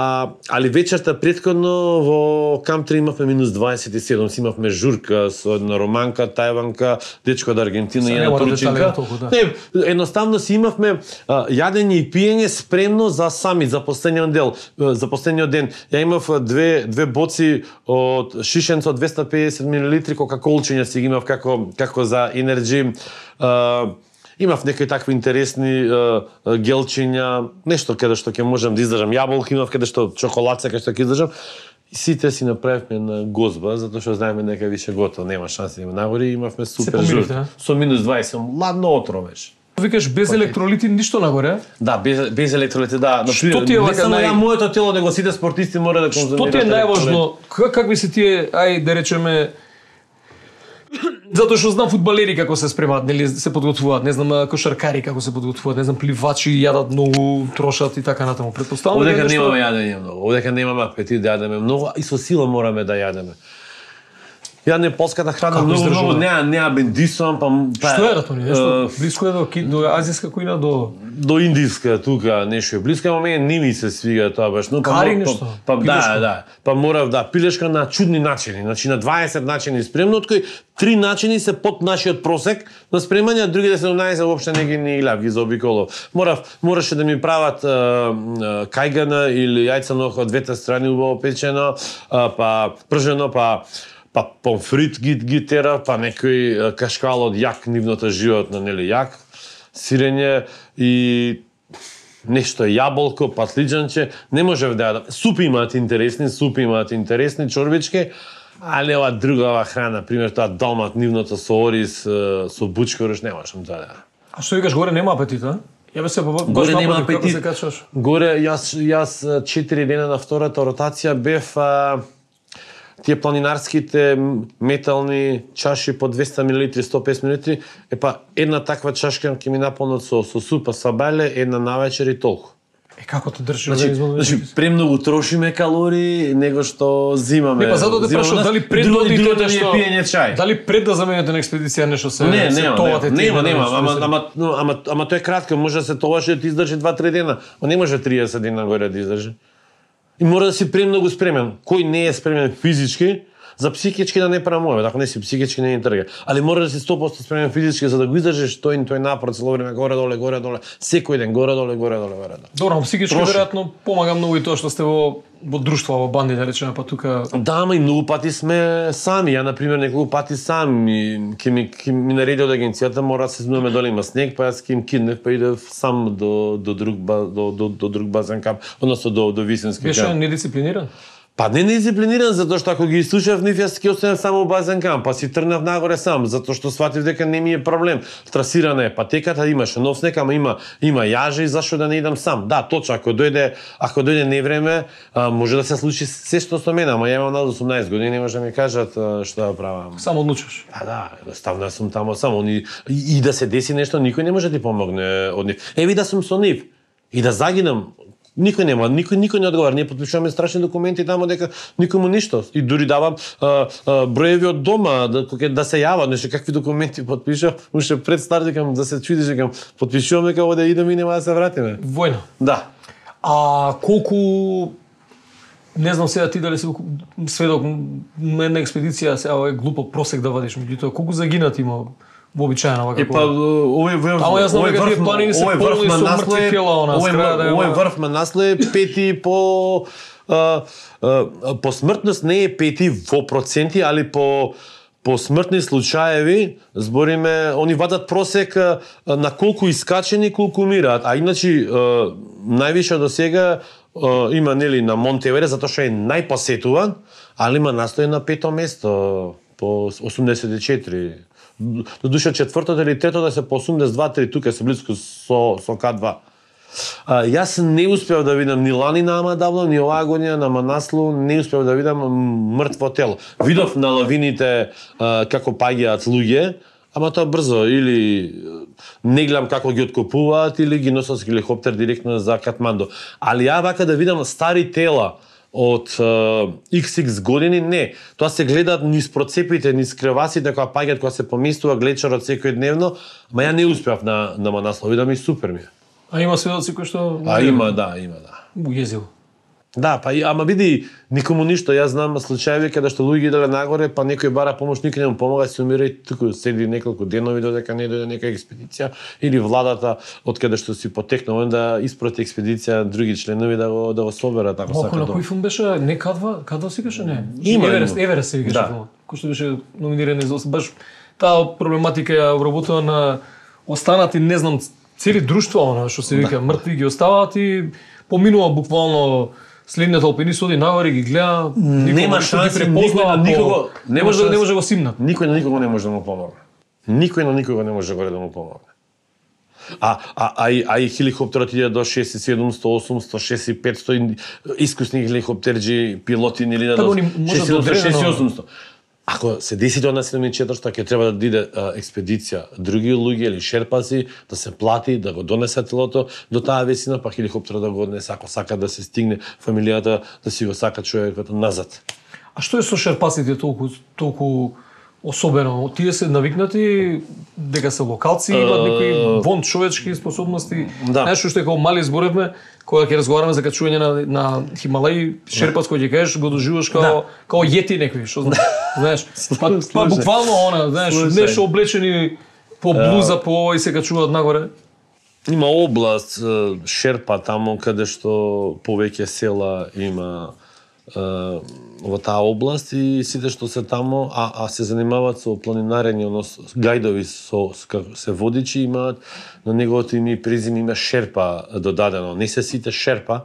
али вечерта претходно во Камп три имавме минус дваесет и седум, си имавме журка со една романка, тајванка, дечко од Аргентина Се и не една мора турчинка. деталјно толку, да. Не, едноставно си имавме а, јадење и пиење спремно за самит, за последниот дел, за последниот ден. Ја имав а, две две боци од шишенца од двесте и педесет милилитри кока-колчиња си ги имав како како за енерджи. А, имав некои такви интересни а, а, гелчиња, нешто каде што ќе можам да издржам, јаболки имав каде што чоколадца каде што ќе издржам. И сите си направивме на гозба, затоа што знаеме дека више готово, нема шанси да има нагоре, имавме супер помиривте, жур. а? Со минус дваесет, ладно отровеш. викаш без електролити ништо нагоре? Да, без без електролити, да. На Што ти е не вака само нај- ја моето тело, него сите спортисти мора да конзумираат. Што ти е најважно? Как, какви се тие, ај да речеме, затоа што знам фудбалери како се спремаат, нели се подготвуваат, не знам а, кошаркари како се подготвуваат, не знам пливачи јадат многу, трошат и така натаму. Претпоставувам дека Овдека нешто- немаме јадење многу. Овдека немаме апетит да јадеме многу и со сила мораме да јадеме. Ја не полската храна Како многу издржува? многу не не бендисувам, па па Што е рато ни? Нешто е, блиско е до ки- до азиска кујна, до до индиска тука нешто е блиско, ама мене не ми се свига тоа баш, но па Кари мо- нешто? Па, па да, Пилешко? да. Па морав да пилешка на чудни начини, значи на дваесет начини спремно, од кои три начини се под нашиот просек на спремање, а другите седумнаесет воопште не ги не илав, ги заобиколов. Морав мораше да ми прават е, е, кајгана или јајца на од двете страни убаво печено, а, па пржено, па па помфрит ги ги тера, па некој е, кашкал од јак нивната животна, нели јак, сирење и нешто јаболко, патлиџанче, не можев да јадам. Супи имаат интересни, супи имаат интересни чорбички, али ова другава храна, пример тоа долмат нивната со ориз, е, со бучкориш, не можам тоа да јадам. А што викаш горе нема апетит, а? Ја бе се баш Горе нема напротив, како апетит. се качваш? Горе јас јас четири дена на втората ротација бев а, тие планинарските м, метални чаши по двесте милилитри, сто и песет милилитри, е па една таква чашка ќе ми наполнат со со супа сабале, една навечер и толку. Е како те држи Значи, организмот? значи премногу трошиме калории него што зимаме. Не, па затоа те Зимаме прашувам нас, дали пред друго- да одите другото ни е нешто, пиење чај. дали пред да замените на експедиција нешто се Не, се нема, товате нема, тие нема, дена, нема, нешто ама, се- ама, ама, ама, ама тоа е кратко, може да се товаше да ти издржи два-три дена, а не може триесет дена горе да издржи. И мора да си премногу спремен. Кој не е спремен физички, за психички да не прамува, ако не си психички не ни трга. Али мора да си сто проценти спремен физички за да го издржиш тој тој напор цело време горе доле горе доле, секој ден горе доле горе доле горе доле. Добро, психички Троши. веројатно помага многу и тоа што сте во во друштво, во банди, да речеме, па тука Да, ама и многу пати сме сами. Ја, например, неколку пати сам и ќе ми, ќе ми нареди од агенцијата, мора да се изминуваме доле има снег, па јас ќе им киднев, па идев сам до, до, друг, ба- до, до, до друг базен камп, односно до, до Висенски беше камп. недисциплиниран. Па не недисциплиниран, затоа што ако ги слушав нив, јас ќе останев само во базен камп, па си трнав нагоре сам, затоа што сватив дека не ми е проблем. Трасирана е патеката, имаше нов снег, ама има има јаже и зашто да не идам сам. Да, точно, ако дојде ако дојде невреме, а, може да се случи се што со мене, ама ја имам над осумнаесет години, не може да ми кажат а, што да правам. Само одлучуваш. Па да, едноставно сум тамо само они и, и да се деси нешто, никој не може да ти помогне од нив. Еви да сум со нив и да загинам. Никој нема, никој никој не одговара. Ние потпишуваме страшни документи тамо дека никому ништо. И дури давам а, а, броеви од дома да кога да се јават, нешто какви документи потпишав, уште пред старт викам да се чудиш викам потпишувам дека оде идеме и нема да се вратиме. Војна. Да. А колку не знам сега ти дали си сведок на една експедиција, сега ова е глупо просек да вадиш, меѓутоа колку загинати има вообичаена вака. Е па овој врв, Ама јас знам овој дека тие врв- планини се овој полни врв со Манасле мртви е- тела, она, овој скрај врв- да е, Овој ама- врв Манасле е пети по а, а, по смртност не е пети во проценти, али по по смртни случаеви, збориме, они вадат просек а, на колку искачени, колку умираат. А иначе а, највише до сега а, има нели на Монте Еверест затоа што е најпосетуван, али Манасле е на пето место по осумдесет и четири. До душа четвртото или третото се по осумдесет и два три тука се близко со со К два. А, јас не успеав да видам ни лани на Амадабло, ни оваа година на Манаслу, не успеав да видам мртво тело. Видов на лавините а, како паѓаат луѓе, ама тоа брзо, или не гледам како ги откопуваат, или ги носат с хеликоптер директно за Катмандо. Али ја вака да видам стари тела од икс икс години, не. Тоа се гледаат низ процепите, низ кревасите, која паѓаат, која се поместува глечерот секојдневно, ма ја не успеав на, на Манасло, видам и супер ми е. А има сведоци кои што... А има, да, има, да. Ујезил. Да, па ама види, никому ништо, јас знам случаеви каде што луѓе иделе нагоре, па некој бара помош, никој не му помага, се умира и туку седи неколку денови додека не дојде нека експедиција или владата од каде што си потекнал да испрати експедиција други членови да го да го соберат ако сакаат. На кој филм беше? Не Кадва, Кадва си беше не. Има, Еверест, има. Еверест се викаше Да. филмот. Кој што беше номиниран за баш таа проблематика ја обработува на останати, не знам, цели друштва, она што се вика, мртви ги оставаат и поминува буквално следниот алпинист оди нагоре ги гледа, Нема шанси, никој на никого не може да не може да го симнат. Никој на никого не може да му помогне. Никој на никого не може горе да му помогне. А а а и, а и хеликоптерот иде до шест и седумсто, осумсто, шест и петсто искусни хеликоптерџи, пилоти или да Така, до они можат шест и седумсто, да шест и одредено- осумсто. Ако се деси тоа на седум и четиристо, ќе треба да диде а, експедиција, други луѓе или шерпаси, да се плати, да го донесат телото до таа висина, па хеликоптерот да го однесе, ако сака да се стигне фамилијата, да си го сака човекот назад. А што е со шерпасите толку толку особено? Тие се навикнати дека се локалци, имат некои вон човечки способности. Да. Нешто што е како мали зборевме, кога ќе разговараме за качување на на Хималаи, шерпац кој ќе кажеш го доживуваш како како јети некои, што знаеш. Знаеш, па, па Слушај. буквално она, знаеш, Слушај. нешто облечени по блуза, по и се качуваат нагоре. Има област е, Шерпа таму каде што повеќе села има е, во таа област и сите што се таму, а, а се занимаваат со планинарење, односно гајдови со, со се водичи имаат, на неговото име и презиме има Шерпа додадено. Не се сите Шерпа,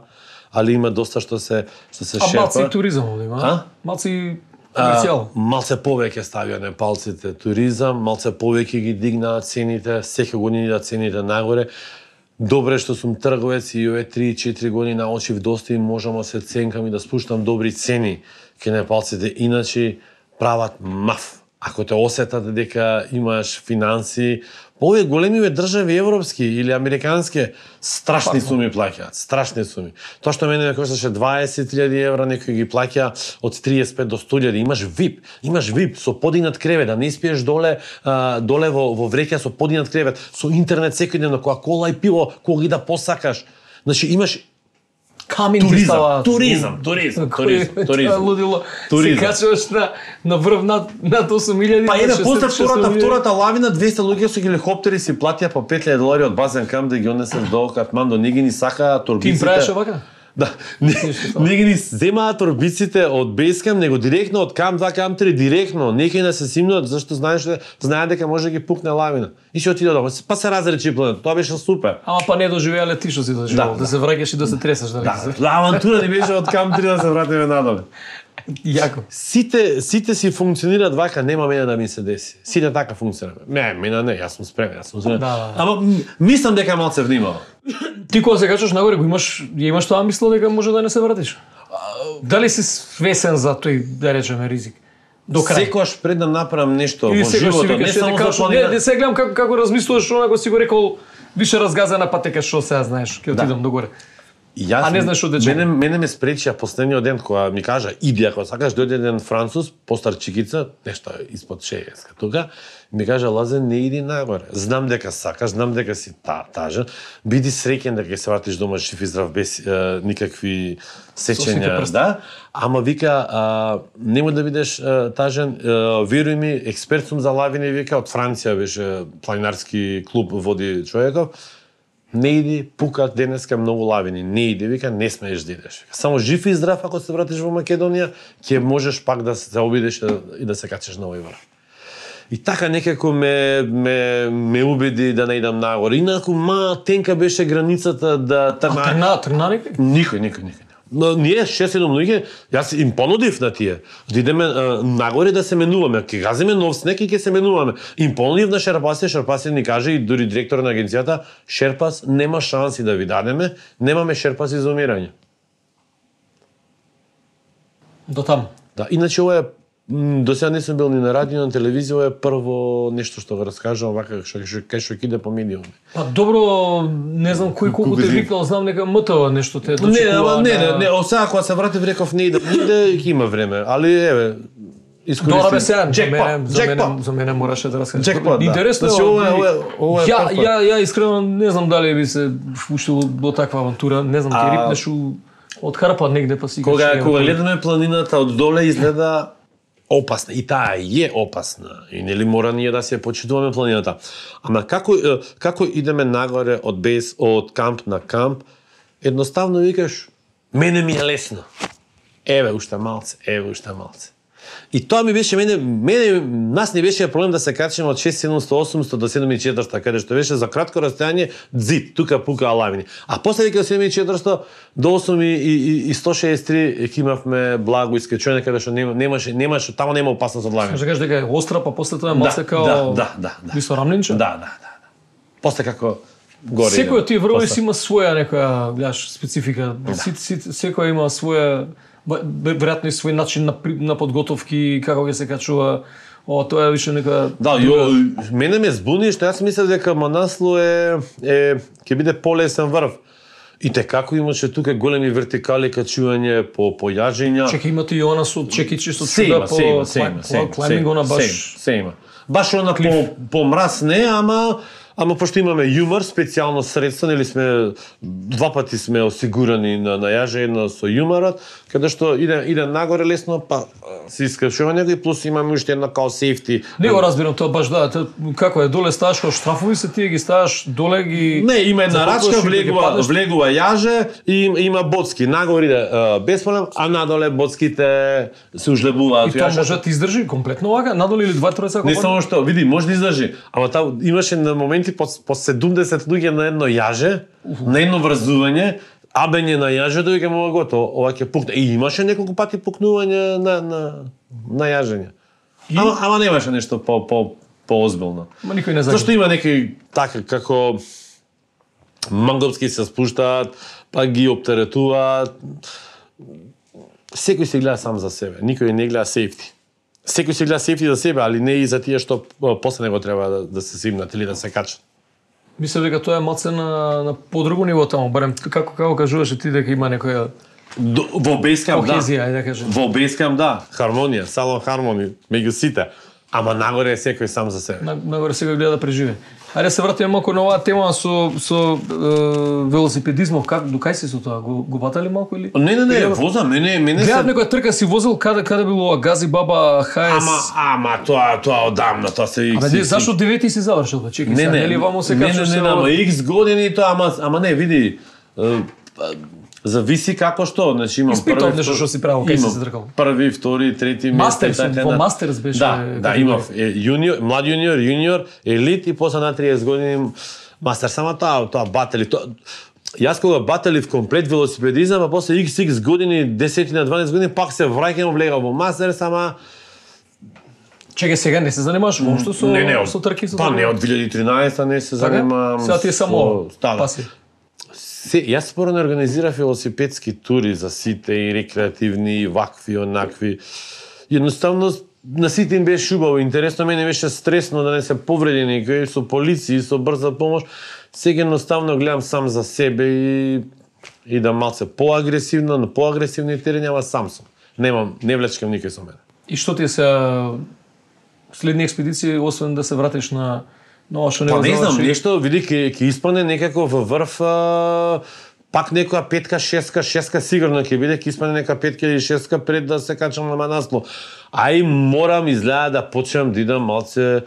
али има доста што се што се А Шерпа. малци туризам овде има. А? Малци А, комерцијал. малце повеќе ставија непалците туризам, малце повеќе ги дигнаат цените, секоја година идат цените нагоре. Добре што сум трговец и овие три четири години научив доста и можам да се ценкам и да спуштам добри цени кај непалците, иначе прават маф. Ако те осетат дека имаш финанси, по овие големиве држави европски или американски, страшни суми плаќаат, страшни суми. Тоа што мене ме кошташе дваесет илјади евра, некој ги плаќа од триесет и пет до сто илјади. Имаш вип, имаш вип со подигнат кревет, да не спиеш доле, а, доле во, во вреќа со подигнат кревет, со интернет секојдневно, кола и пиво, кога ги да посакаш. Значи имаш Камин ти туризам, става. туризам, туризам, туризам, Кој- туризам. тоа е лудило. Туризам. Се качуваш на на врв над над осум илјади. Па над еде после шестдесет втората илјади. втората лавина двесте луѓе со хеликоптери си платија по пет илјади долари од базен камп да ги однесат до Катмандо, не ги ни сакаа Ти им торбиците. правеше вака? Да, не, не ги ни земаат торбиците од Бейскам, него директно од Камп два, Камп три, директно. Некој да се симнат, зашто знаеш, знаат дека може да ги пукне лавина. И си отиде дома, па се разречи планет. Тоа беше супер. Ама па не доживеале ти што си доживеал, Да, да, се враќаш и да се тресаш, дали? Да, да, авантура ни беше од Камп три да се вратиме надоле. Јако. Сите сите си функционираат вака, нема мене да ми се деси. Сите така функционираме. Не, мене не, јас сум спремен, јас сум спремен. Да, да. Ама м, мислам дека малце внимава. Ти кога се качуваш нагоре, го имаш, ја имаш тоа мисла дека може да не се вратиш? Дали си свесен за тој, да речеме, ризик? До крај. Секогаш пред да направам нешто Или во секогаш си животот, не викаш, само дека за не, планина. не се гледам како како размислуваш, онако си го рекол више разгазена патека што сега знаеш, ќе Да. отидам догоре. Јас, А не знаеш од дече. Мене, мене ме спречија последниот ден кога ми кажа иди ако сакаш дојде еден француз, постар чикица, нешто испод шеесет тука, ми кажа Лазен не иди нагоре. Знам дека сакаш, знам дека си та, тажен, биди среќен дека ќе се вратиш дома жив и здрав без е, никакви сите сечења, прсти. да. Ама вика а, немој да бидеш е, тажен, е, веруј ми, експерт сум за лавини, вика од Франција беше планинарски клуб води човеков. Не иди, пукат денеска многу лавини. Не иди, вика, не смееш да идеш. Вика, само жив и здрав ако се вратиш во Македонија, ќе можеш пак да се обидеш и да се качеш на овој врв. И така некако ме, ме, ме убеди да не идам нагоре. Инаку, ма, тенка беше границата да А трна... трна, трна некој? Никој, никој, никој. ние шест-седум луѓе, јас им понудив на тие, да идеме а, нагоре да се менуваме, ќе газиме нов снег и ќе се менуваме. Им понудив на Шерпасе, Шерпасе ни каже и дури директор на агенцијата, Шерпас нема шанси да ви дадеме, немаме Шерпаси за умирање. До таму. Да, иначе ова е до сега не сум бил ни на радио, ни на телевизија, ова е прво нешто што го раскажам вака што кај што ќе иде по медиуми. Па добро, не знам кој колку те викнал, знам нека МТО нешто те дочекува. Не, ама не, на... не, не, сега кога се вратив реков не иде, не иде, ќе има време, али еве искористив. Добро бе сега, за мене, за мене, Джекпот. за мене мораше да разкажеш. Джекпот, да. Интересно Значи, е, ова е, ова е, ова е ја, прв пат. ја, ја искрено не знам дали би се впуштил во таква авантура, не знам, ќе А- рипнеш у од Харпа негде па си Кога кажеш, кога ево, гледаме планината од доле изгледа опасна и таа е опасна и нели мора ние да се почитуваме планината. Ама како е, како идеме нагоре од бейс од камп на камп, едноставно викаш мене ми е лесно. Еве уште малце, еве уште малце. И тоа ми беше мене мене нас не беше проблем да се качиме од шест седумстотини осумстотини до седум и четиристотини, каде што беше за кратко растојање дзид, тука пука алавини. А после дека од седум и четиристотини до осум и, и, и сто шеесет и три ќе имавме благо искачување каде што нема, немаше немаше таму нема опасност од лавини. Може кажеш дека е остра, па после тоа е малце као да, да, да, да. висорамнинче? Да, да, да. После како горе. Секој од тие врвови после. си има своја некоја, гледаш, специфика. Си, си, секој има своја ба- бе- веројатно и свој начин на, при- на подготовки, како ќе се качува. О, тоа е више нека Да, ја, мене ме збуни што јас мислев дека Манасло е е ќе биде полесен врв. И те како имаше тука големи вертикали качување по по јажења. Чека имате и она со чекичи со Се чуда има, по се има, се има, се има, клайминг, она се баш има, се има. Баш она по по мраз не, ама ама пошто имаме јумор, специјално средство, нели сме два пати сме осигурани на на јажење со јуморот, каде што иде иде нагоре лесно, па се искачува него и плюс имаме уште една као сейфти. Не го разбирам тоа баш да, тоа, како е доле ставаш како штрафови се тие ги ставаш доле ги Не, има една започваш рачка, и да ги влегува, паднеш. влегува јаже и им- има боцки. Нагоре иде а, без проблем, а надоле боцките се ужлебуваат И тоа јаже. може да ти издржи комплетно вака, надоле или два тројца Не само што, види, може да издржи, ама таа имаше на моменти по, по седумдесет луѓе на едно јаже, на едно врзување, абење на јаже, дојде му готово, ова ќе пукне. И имаше неколку пати пукнување на на на јажење. Ама ама немаше нешто по по поозбилно. Ма никој не знае. Зашто има некои така како мангопски се спуштаат, па ги оптеретуваат. Секој се гледа сам за себе, никој не гледа сейфти. Секој се гледа сейфти за себе, али не и за тие што а, после него треба да, да се симнат или да се качат. Мислам дека тоа е малце на на подруго ниво таму, барем како како кажуваше ти дека има некоја До, во Бейскам, да. кохезија, ајде да кажем. Во Бейскам, да. Хармонија, салон хармони, меѓу сите. Ама нагоре е секој сам за себе. На, нагоре сега гледа да преживе. Ајде се вратиме малку на оваа тема со со е, велосипедизмов, как до кај си со тоа? Го, го батали малку или? Не, не, не, Или- возам, мене, мене Гледав се... некоја трка си возил каде каде било ова Гази Баба ХС. Ама, ама, тоа, тоа одамна, тоа се... Абе, се- не, зашо девети си завршил, бе? Чекај Не, сега, не, нели вамо се не, качуваш не, се не, ама ова- X години тоа, ама, ама не, види, е, па, зависи како што, значи имам Испитав нешто втор- што си правил, кај си имам се тркал. Први, втори, трети место. Мастерс, и така, во да. Мастерс беше Да, да, категорија. имав е, јуниор, млад јуниор, јуниор, елит и после на триесет години мастер. Само тоа, тоа батели, тоа Јас кога бателив комплет велосипедизам, а после икс икс години, десет на дванаесет години, пак се враќам, влегав во мастер, сама Чекај сега не се занимаваш воопшто со не, не, од- со трки со па трки? не, од две илјади и тринаесета не се Така? занимавам. Сега ти е само со- да, да. паси. Се, јас спорно организирав велосипедски тури за сите и рекреативни, и вакви, онакви. Едноставно, на сите им беше убаво. Интересно, мене беше стресно да не се повреди никој, со полиција, со брза помош. Сега едноставно гледам сам за себе и и да малце поагресивно, на поагресивни терени, ама сам сум. Немам, не влечкам никој со мене. И што ти е се следни експедиции, освен да се вратиш на на ова што не Па го не знам, заврши? нешто, види, ќе ќе испадне некако во врв, а, пак некоја петка, шестка, шестка сигурно ќе биде, ќе испадне нека петка или шестка пред да се качам на Манасло. Ај морам изгледа да почнам да идам малце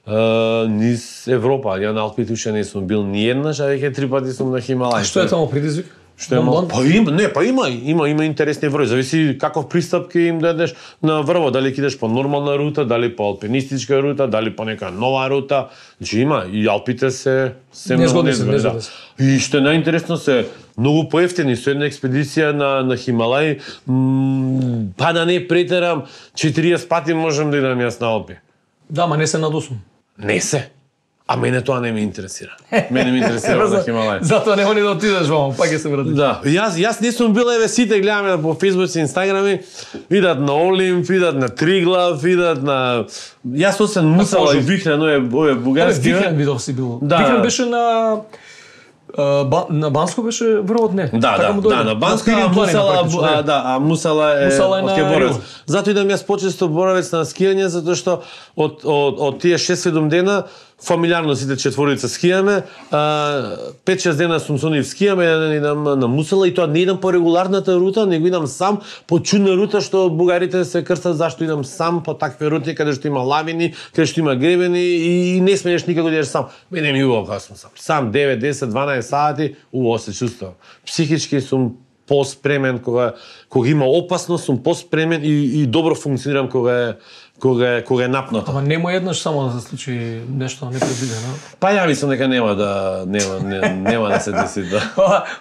а, низ Европа. Ја на Алпите уште не сум бил ни еднаш, а веќе три пати сум на А Хималај. што е таму предизвик? Што е мал... Па има, не, па има, има, има интересни врвови. Зависи каков пристап ќе им дадеш на врво, дали ќе идеш по нормална рута, дали по алпинистичка рута, дали по нека нова рута. Значи има и Алпите се се многу незгодни се. И што е најинтересно се многу поевтини со една експедиција на на Хималај, м, па да не претерам, четириесет пати можам да идам јас на Алпи. Да, ма не се надосум. Не се. А мене тоа не ме интересира. Мене ме интересира на Хималај. Затоа нема ни да отидеш вамо, пак ќе се вратиш. Да, јас јас не сум бил, еве сите гледаме по Facebook и Инстаграми, идат на Олимп, идат на Триглав, идат на јас освен Мусала и Вихрен, овие овие бугарски. Вихрен видов си бил. Да. Вихрен беше на Ба, на Банско беше врвот не. Да, така да, да, на Банско, а Мусала, а, да, а Мусала е, Мусала е од Борец. Затоа идам јас почесто Боровец на скијање, затоа што од од од тие шест-седум дена фамилиарно сите четворица скијаме, пет-шест дена сум со нив скијаме, еден идам на Мусала и тоа не идам по регуларната рута, него идам сам по чудна рута што бугарите се крстат зашто идам сам по такви рути каде што има лавини, каде што има гребени и не смееш никако да идеш сам. Мене ми убаво кога сум сам. Сам девет, десет, дванаесет сати, убаво се чувствувам. Психички сум поспремен кога кога има опасност, сум поспремен и и добро функционирам кога е кога е кога е напнато. Ама нема еднаш само да се случи нешто непредвидено. Па ја мислам дека нема да нема не, нема да се деси да.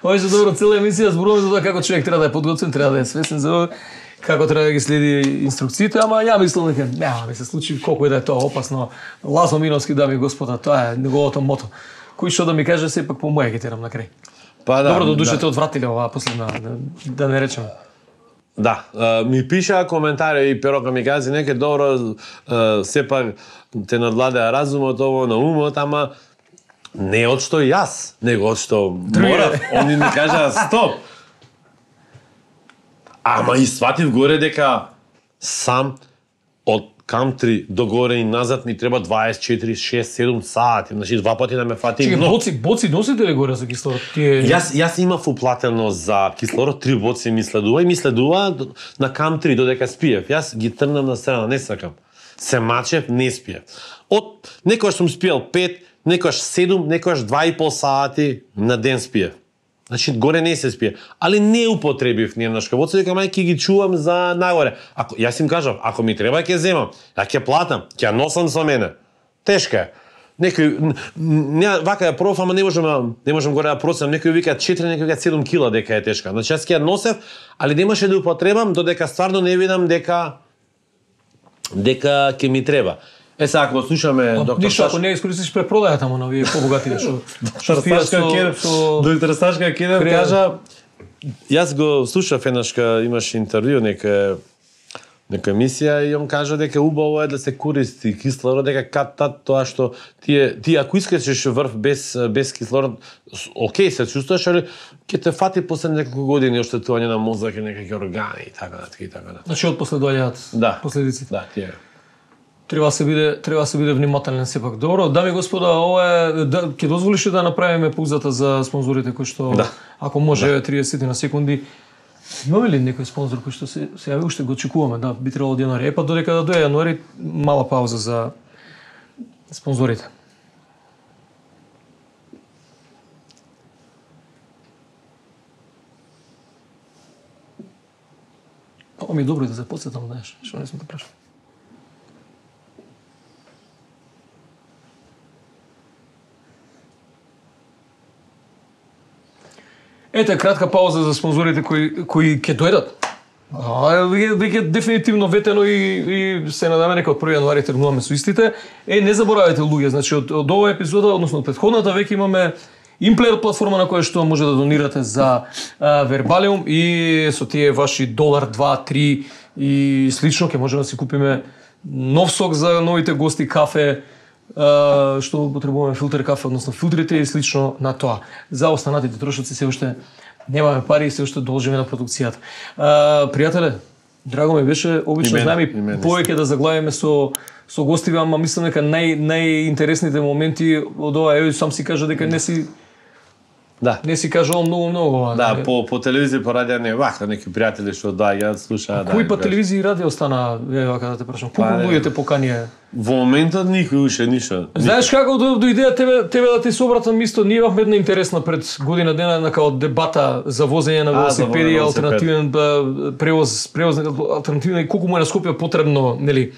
Ова е добро, цела емисија зборуваме за тоа како човек треба да е подготвен, треба да е свесен за ова, како треба да ги следи инструкциите, ама ја мислам дека нема ми се случи колку и да е тоа опасно. Лазо Миновски, дами и господа, тоа е неговото мото. Кој што да ми каже сепак по моја ги терам на крај. Па да. Добро да душите да. Одвратиле оваа последна да, да не речеме. Да, ми пишаа коментари и Перока ми каза неке добро сепак те надвладеа разумот ово на умот, ама не од што јас, него од што морав. Они ми кажаа стоп. Ама и сватив горе дека сам од кантри до горе и назад ми треба дваесет и четири, шест, седум сати, значи два пати да ме фати. Чекай, но... боци, боци носите ли горе за кислород? Тие... Јас јас имав уплатено за кислород, три боци ми следува и ми следува на кантри додека спиев. Јас ги трнам на страна, не сакам. Се мачев, не спиев. Од некојаш сум спиел пет, некојаш седум, некојаш два и пол сати на ден спиев. Значи горе не се спие, али не употребив ненашка воца, дека мај ќе ги чувам за нагоре. Ако јас им кажав, ако ми треба ќе земам, ја ќе платам, ќе носам со мене. Тешка е. Некој не вака е проф, ама не можам не можам горе да проценам, некој вика четири, некој вика седум кила дека е тешка. Значи јас ќе ја носев, али немаше да употребам додека стварно не видам дека дека ќе ми треба. Е сега ако слушаме доктор Ништо ако не искористиш препродајата му на овие побогатите што што спијат со, со доктор Сашка Кенев кажа, јас го слушав еднашка, имаше интервју нека нека емисија и он кажа дека убаво е да се користи кислород, дека кат-тат тоа што тие ти ако искачеш врв без без кислород, окей се чувствуваш, али ќе те фати после неколку години оштетување на мозок и некакви органи и така натаму и така натаму. Значи од после доаѓаат да. Последици. Да, тие. Треба се биде треба се биде внимателен сепак. Добро, дами и господа, ова е да ќе дозволиш да направиме паузата за спонзорите кои што да. Ако може да. триесет на секунди. Имаме ли некој спонзор кој што се се јави, уште го очекуваме, да, би требало од јануари. Е па додека да дојде јануари, мала пауза за спонзорите. Ова ми е добро да се потсетам, знаеш, што не сум те прашал. Ете, кратка пауза за спонзорите кои кои ќе дојдат. А, веќе дефинитивно ветено и, и се надаме дека од први јануари тргнуваме со истите. Е, не заборавајте луѓе, значи од, од оваа епизода, односно од претходната, веќе имаме Имплеер платформа на која што може да донирате за а, Вербалиум и со тие ваши долар, два, три и слично ќе можеме да си купиме нов сок за новите гости, кафе, Uh, што потребуваме филтер кафе, односно филтрите и слично на тоа. За останатите трошоци се уште немаме пари и се уште должиме на продукцијата. Uh, пријателе, драго ми беше, обично знаеме повеќе да заглавиме со со гостиве, ама мислам дека нај најинтересните моменти од ова, еве сам си кажа дека не си Да. Не си кажувал многу многу. Да, не? по по телевизија, по радио не вака неки пријатели што доаѓаат, слушаат. Да, кој па телевизија и радио стана, е вака да те прашам. Колку луѓе те поканија? Во моментот никој уште ништо. Знаеш како до, до идеја тебе тебе да ти се обратам исто, ние имавме една интересна пред година дена на као дебата за возење на велосипеди, алтернативен превоз, превоз алтернативен и колку му е на Скопје потребно, нели?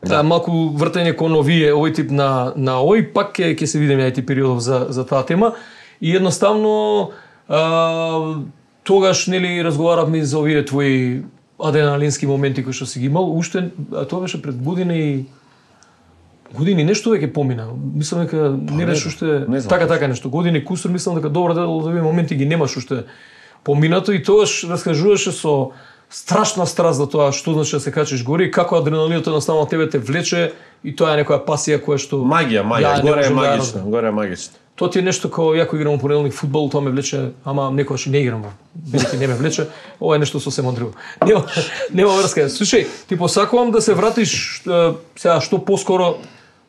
Да, малку вртење кон овие овој тип на на овој пак ќе ќе се видиме најти периодов за за таа тема и едноставно а, тогаш нели разговаравме за овие твои адреналински моменти кои што си ги имал, уште тоа беше пред години години нешто веќе помина. Мислам дека не беше уште така така нешто. Години кусур мислам дека добро да овие моменти ги немаш уште поминато и тогаш раскажуваше со страшна страст за тоа што значи да се качиш горе и како адреналинот едноставно тебе те влече и тоа е некоја пасија која што магија, магија, горе е магично, горе е магично. Тоа ти е нешто како јако играм понеделник фудбал, тоа ме влече, ама некогаш и не играм, бидејќи не ме влече. Ова е нешто сосема друго. Нема нема врска. Слушај, ти посакувам да се вратиш сега што поскоро.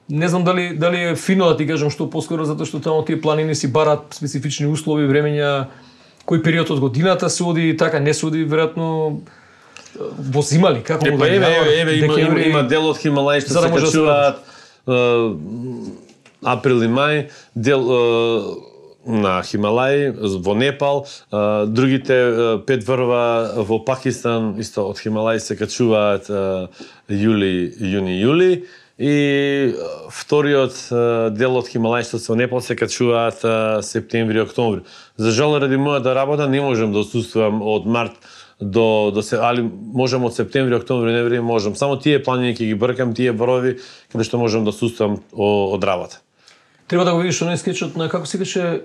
Не знам дали дали е фино да ти кажам што поскоро затоа што таму тие планини си барат специфични услови, времења, кој период од годината се оди, така не се оди веројатно во зима ли, како го да еве еве има, има, има дел од Хималаи што се качуваат април и мај, дел на Хималаи во Непал, другите пет врва во Пакистан исто од Хималаи се качуваат јули, јуни, јули. И вториот дел од Хималаи што се во Непал се качуваат септември, октомври. За жал ради мојата работа не можам да отсуствувам од март до до се, али можам од септември, октомври, ноември можам. Само тие планини ќе ги бркам, тие брови каде што можам да отсуствувам од работа. Треба да го видиш оној скечот на како се каже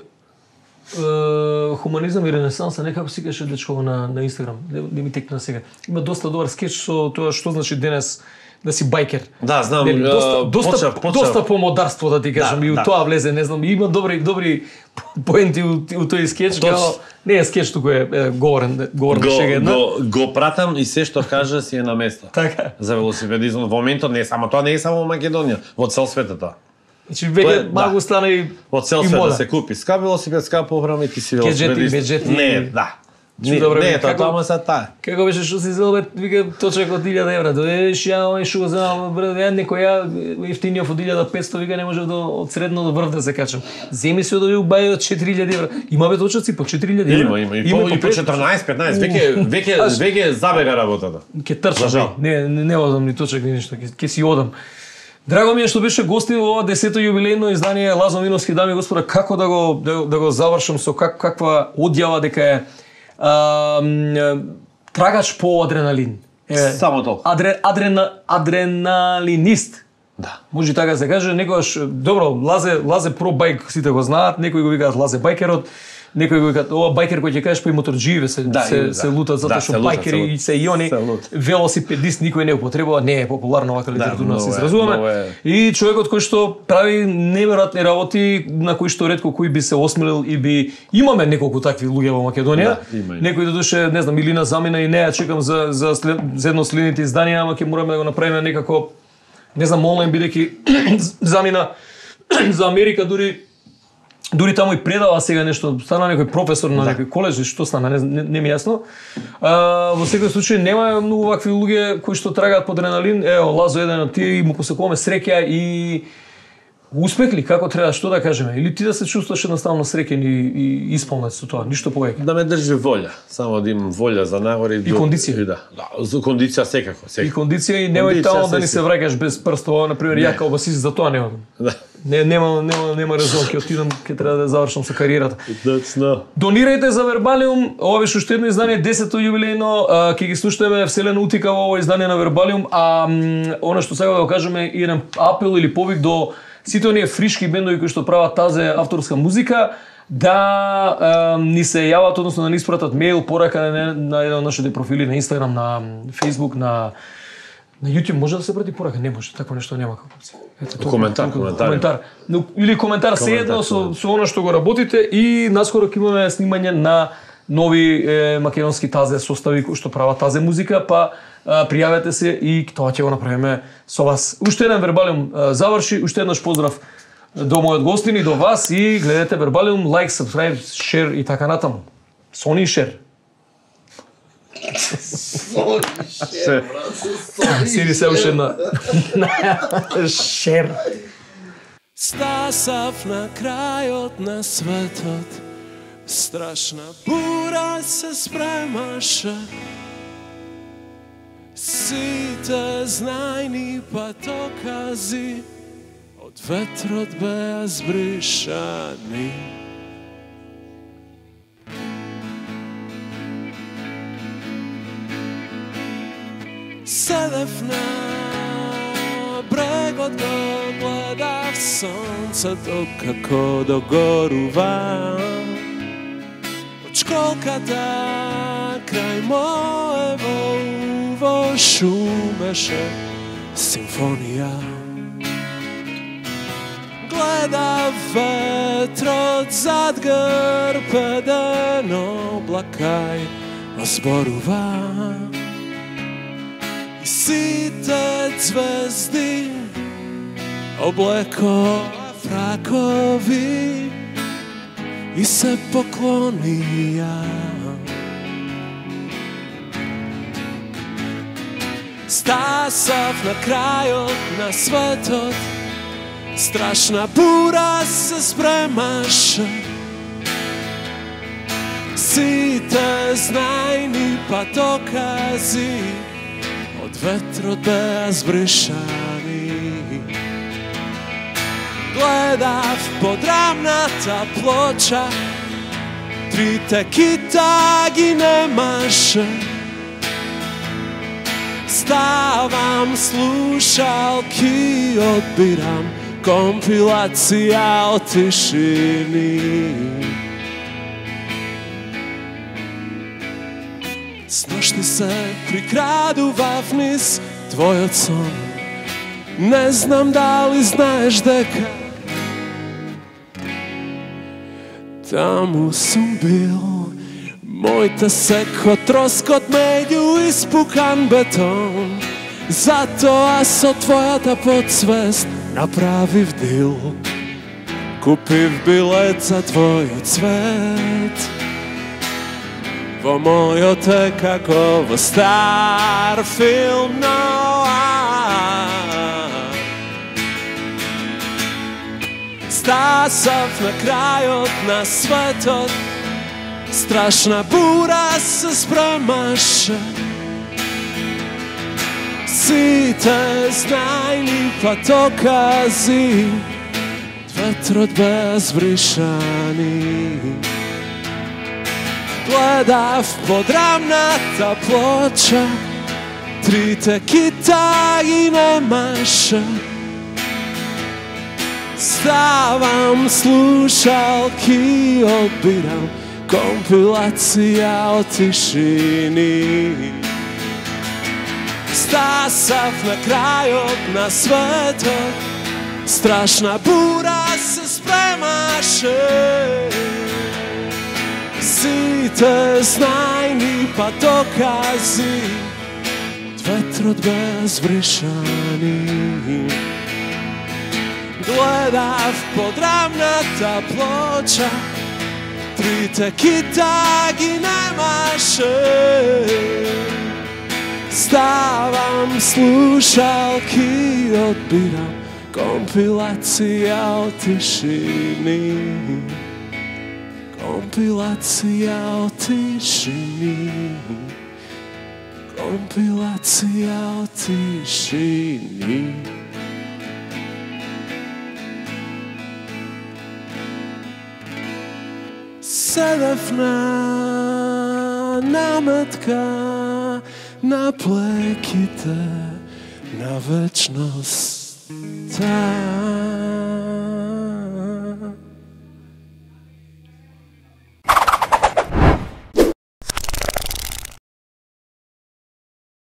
хуманизам и ренесанса, не како се каже дечко на на Инстаграм. Не ми текна сега. Има доста добар скеч со тоа што значи денес да си бајкер. Да, знам. Нели, доста, доста, почав, почав. доста помодарство да ти кажам, да, и у да. Тоа влезе, не знам, има добри добри поенти у, у тој скеч, као не е скеч, туку е, е говорен, говорен го, шега една. Го, го пратам и се што кажа си е на место. Така. За велосипедизмот во моментот не е само тоа, не е само во Македонија, во цел светот тоа. Значи веќе малку да. Стана и во цел свет се купи скап велосипед, скап оправа и ти си велосипедист. Не, да. Не, не, тоа тоа се таа. Како беше што си зел, вика точак од илјада евра. Доеш ја, ој што го знам, брат, некоја ефтиниот од илјада и петстотини, вика не може да од средно до врв да се качам. Земи се од овие бај од четири илјади евра. Има бе точаци по четири илјади евра. Има, има и по, и по четрнаесет петнаесет, веќе веќе веќе забега работата. Ке трчам. Не, не, не одам ни точак ни ништо, ке си одам. Драго ми е што беше гостин во ова десето јубилејно издание Лазо Миновски, дами и господа, како да го да, да го завршам со как, каква одјава дека е Uh, трагач по адреналин. Е, Само толку. Адре, адрена, адреналинист. Да. Може така се каже, некојаш добро, Лазе, Лазе про бајк, сите го знаат, некои го викаат Лазе бајкерот, некои го викаат ова бајкер кој ќе кажеш па и моторџиеве се да, се, да. се лутат затоа што да, бајкери се и они, велосипедист никој не употребува, не е популарна овака литература да се изразуваме. И човекот кој што прави неверојатни работи на кои што ретко кој би се осмелил и би имаме неколку такви луѓе во Македонија. Да, некој додуше, не знам, Илина замина и неа чекам за за, след, за едно следните изданија, ама ќе мораме да го направиме некако не знам онлайн бидејќи замина за Америка дури дури таму и предава сега нешто, стана некој професор на да. Некој колеж, што стана, не, не, не ми е јасно. А, во секој случај нема многу вакви луѓе кои што трагаат по адреналин. Ево, Лазо еден од тие и му посакуваме среќа и успех ли, како треба, што да кажеме? Или ти да се чувствуваш едноставно среќен и, и исполнет со тоа, ништо повеќе? Да ме држи волја, само да имам волја за нагоре и, и кондиција. И да, да, за кондиција секако, секако. И кондиција и немој таму да ни се враќаш без прстова, на пример, ја као басист за тоа немам. Да. Не, нема, нема, нема резон, ќе отидам, ќе треба да завршам со кариерата. Точно. Донирајте за Вербалиум, ова беше уште едно издание, десето јубилејно, ќе ги слушаме Вселена утика во ова издание на Вербалиум, а она што сега да го кажеме и еден апел или повик до сите оние фришки бендови кои што прават тази авторска музика, да е, ни се јават, односно да ни испратат мејл, порака на, на еден од нашите профили на Инстаграм, на Фейсбук, на на YouTube. Може да се прати порака? Не може, такво нешто нема како опција. Ето, толку, коментар, толку, коментар. коментар. Но, или коментар, коментар се едно со, со оно што го работите и наскоро ќе имаме снимање на нови е, македонски тазе состави кои што прават тазе музика, па а, пријавете се и тоа ќе го направиме со вас. Уште еден Вербалиум а, заврши, уште еднаш поздрав до мојот гостин и до вас и гледате Вербалиум, лайк, subscribe, share и така натаму. Сони и шер. Сони шер, брат. Сири се уште на шер. Стасав на крајот на светот, страшна бура се спремаше. Сите знајни патокази од ветрот беа збришани. Седев на брегот, го гледав сонцето како догорува. Од школката крај моево уво шумеше симфонија. Гледав ветрот зад грб еден облакај озборува. И сите звезди облеко фракови и се поклонија. Стасав на крајот на светот, страшна бура се спремаше. Сите знајни патокази од ветрот беа збришани. Гледав подрамната плоча, трите кита ги немаше. Ставам слушалки, одбирам компилација од тишини. Сношти се прикрадував низ твојот сон. Не знам дали знаеш дека таму сум бил. Мојта секо троскот меѓу испукан бетон. Затоа со твојата подсвест направив дил. Купив билет за твојот свет. Во мојот е како во стар филм, но стасав на крајот на светот, страшна бура се спремаше. Сите знајни патокази ветрот беа збришани. Гледав подрамната плоча, трите кита ги немаше. Ставам слушалки, одбирам компилација од тишини. Стасав на крајот на светот, страшна бура се спремаше. Сите знајни патокази ветрот беа збришани. Гледав подрамната плоча, трите кита ги немаше. Ставам слушалки, одбирам компилација од тишини. Компилација од тишини. Компилација од тишини. Седев на наметка на плеките на вечноста.